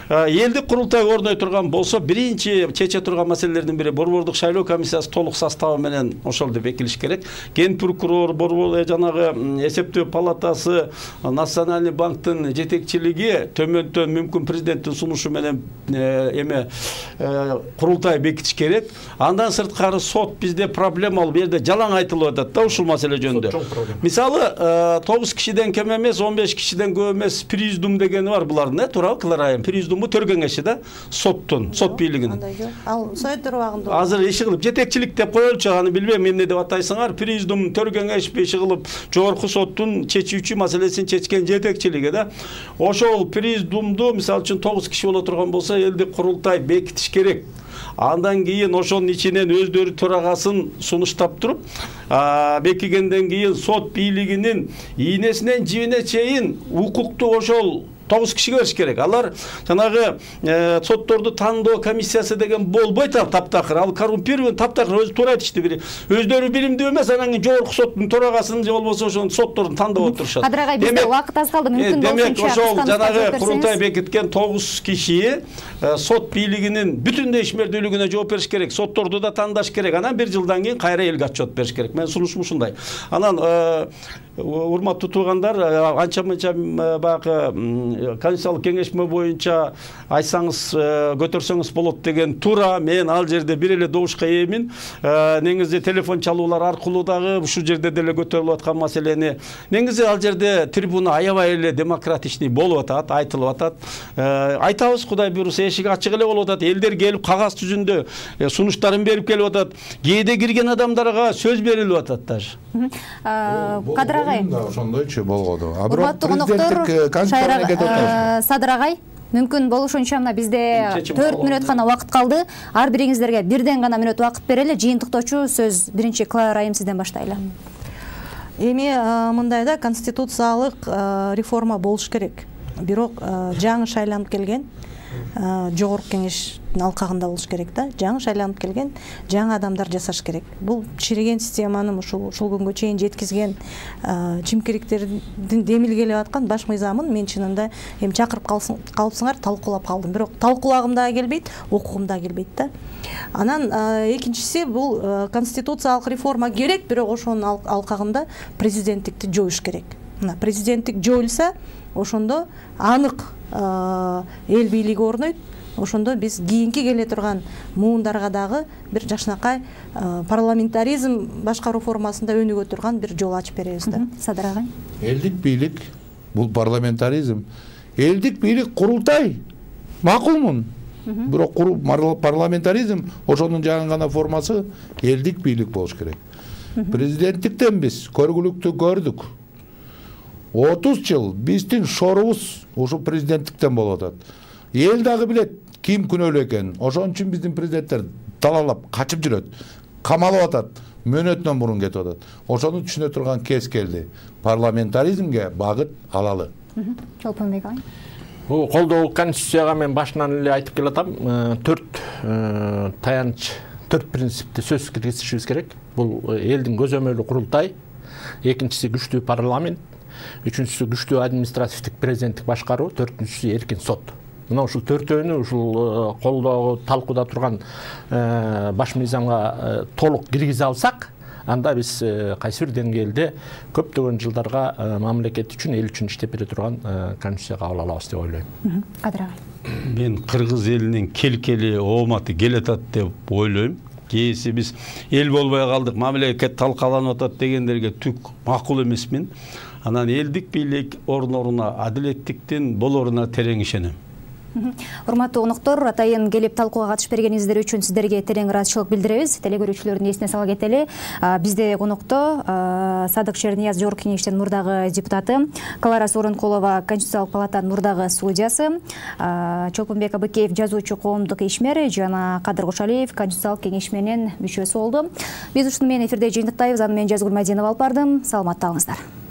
Элдик курултай орной турган болсо, биринчи чече турган маселелердин бири борбордук шайлоо комиссиясы толук составы менен ошолду бекилиш керек. Ген прокурор, борбор жанагы эсептөө палатасы, Национальный банктын жетекчилиги төмөндөн мүмкүн президенттин сунушу менен эме курултай бекитиш керек. Андан сырткары сот бизде проблема, бул жерде жалаң айтылып атат да ушул маселе жөнүндө. Мисалы, тогуз кишиден кем эмес, он беш кишиден көп эмес президиум дегени бар булардын, туурабы Кыларайым? Президиум төр кеңеши да, соттун, сот бийлигинин. Ал советтер убагында. Азыр иши кылып жетекчилик деп коелучу, аны билбейм эмне деп атайсыңар. Президиум төр кеңеш иши кылып жогорку соттун чечүүчү маселесин чечкен жетекчилиги да. Ошол президиумду мисалы үчүн тогуз киши боло турган болсо, элдик курултай бекитиш керек. Андан кийин ошонун ичинен өздөрү төрагасын сунуштап туруп, бекигенден кийин сот бийлигинин ийнесинен жибине чейин укукту ошол тогуз кишиге бериш керек. Алар жанагы сотторду тандоо комиссиясы деген болбойт, ал таптакыр. Ал коррумпирован таптакыр, өзү туура айтышты бири. Өздөрү билимдүү эмес, анан кийин жогорку соттун төрагасын же болбосо ошонун сотторун тандап отурушат. Кадыр агай, бизде убакыт аз калды, мүмкүн болсончо. Демек, ошол жанагы курултай бекиткен тогуз киши сот бийлигинин бүтүндөй ишмердүүлүгүнө жооп бериш керек. Сотторду да тандаш керек. Анан бир жылдан кийин кайра элге отчет бериш керек. Мен сунушум ушундай. Анан урматтуу туугандар, анча-мынча багы конституциялык кеңешме боюнча айтсаңыз, көтөрсөңүз болот деген туура. Мен ал жерде бир эле добушка ээмин. Негизи телефон чалуулар аркылуу дагы ушул жерде деле көтөрүлүп аткан маселени. Негизи ал жерде трибуна аябай эле демократичный болуп атат, айтылып атат. Айтабыз, Кудай буйруса эшик ачык эле болуп атат. Элдер келип кагаз жүзүндө сунуштарын берип келип атат. Кээде кирген адамдарга сөз берилип атат даже. Кадыр агай, ошондойчу болгоду. Урматтуу коноктору, Садыр агай, мүмкүн болушунча мына бизде төрт мүнөт гана убакыт калды. Ар бириңиздерге бирден гана мүнөт убакыт берели. Жыйынтыктоочу сөз биринчи Кыларайым сизден баштайлы. Эми мындай да, конституциялык реформа болуш керек. Бирок жаңы шайланып келген жогорку кеңештин алкагында болуш керек да. Жаңы шайланып келген жаңы адамдар жасаш керек. Бул чириген системаны ушул ушул күнгө чейин жеткизген чимкириктердин демилгелеп аткан баш мыйзамын мен чынында эми чакырып калыпсыңар, талкуулап калдым. Бирок талкуулагым да келбейт, окугум да келбейт да. Анан экинчиси, бул конституциялык реформа керек, бирок ошонун алкагында президенттикти жоюш керек. Мына президенттик жоюлса, ошондо анык эл бийлиги орнойт. Ошондо биз кийинки келе турган муундарга дагы бир жакшынакай парламентаризм башкаруу формасында өнүгө турган бир жол ачып беребиз да. Садыр агай. Элдик бийлик бул парламентаризм. Элдик бийлик курултай. Макулмун. Бирок парламентаризм ошонун жаңы гана формасы элдик бийлик болуш керек. Президенттиктен биз көргүлүктү көрдүк. отуз жыл биздин шорубуз ушу президенттиктен болуп атат. Эл дагы билет ким күнөөлүү экенин. Ошон үчүн биздин президенттер талалап качып жүрөт, камалып атат, мөөнөтүнөн мурун кетип атат. Ошону түшүнө турган кез келди. Парламентаризмге багыт алалы. Чолпонбек агай. Бул колдоо конституцияга мен башынан эле айтып келатам, төрт таянч, төрт принципти сөзсүз киргизишибиз керек. Бул элдин көзөмөлү курултай, экинчиси күчтүү парламент, үчүнчүсү күчтүү административдик президенттик башкаруу, төртүнчүсү эркин сот. Мына ушул төртөөнү ушул колдоо талкууда турган баш мыйзамга толук киргизе алсак, анда биз кайсы бир деңгээлде көптөгөн жылдарга мамлекет үчүн, эл үчүн иштеп бере турган конституция кабыл алабыз деп ойлойм. Кадыр агай. Мен кыргыз элинин келкели ооматы келатат деп ойлойм. Кээси биз эл болбой калдык, мамлекет талкаланып атат дегендерге түк макул эмесмин. Анан элдик бийлик орун-оруна, адилеттиктин болоруна терең ишенем. Урматтуу коноктор, атайын келип талкууга катышып бергениңиздер үчүн сиздерге терең ыраазычылык билдиребиз. Телекөрүүчүлөрдүн эсине сала кетели. Бизде конокто Садык Шернияз Жогорку Кеңештин мурдагы депутаты, Клара Сооронкулова Конституциялык палатанын мурдагы судьясы, Чолпонбек Абыкеев жазуучу, коомдук ишмер жана Кадыр Кошалиев Конституциялык кеңешменин мүчөсү болду. Биз ушуну менен эфирде жыйынтыктайбыз. Аны мен Жазгүл Мадинова алып бардым. Саламатта калыңыздар.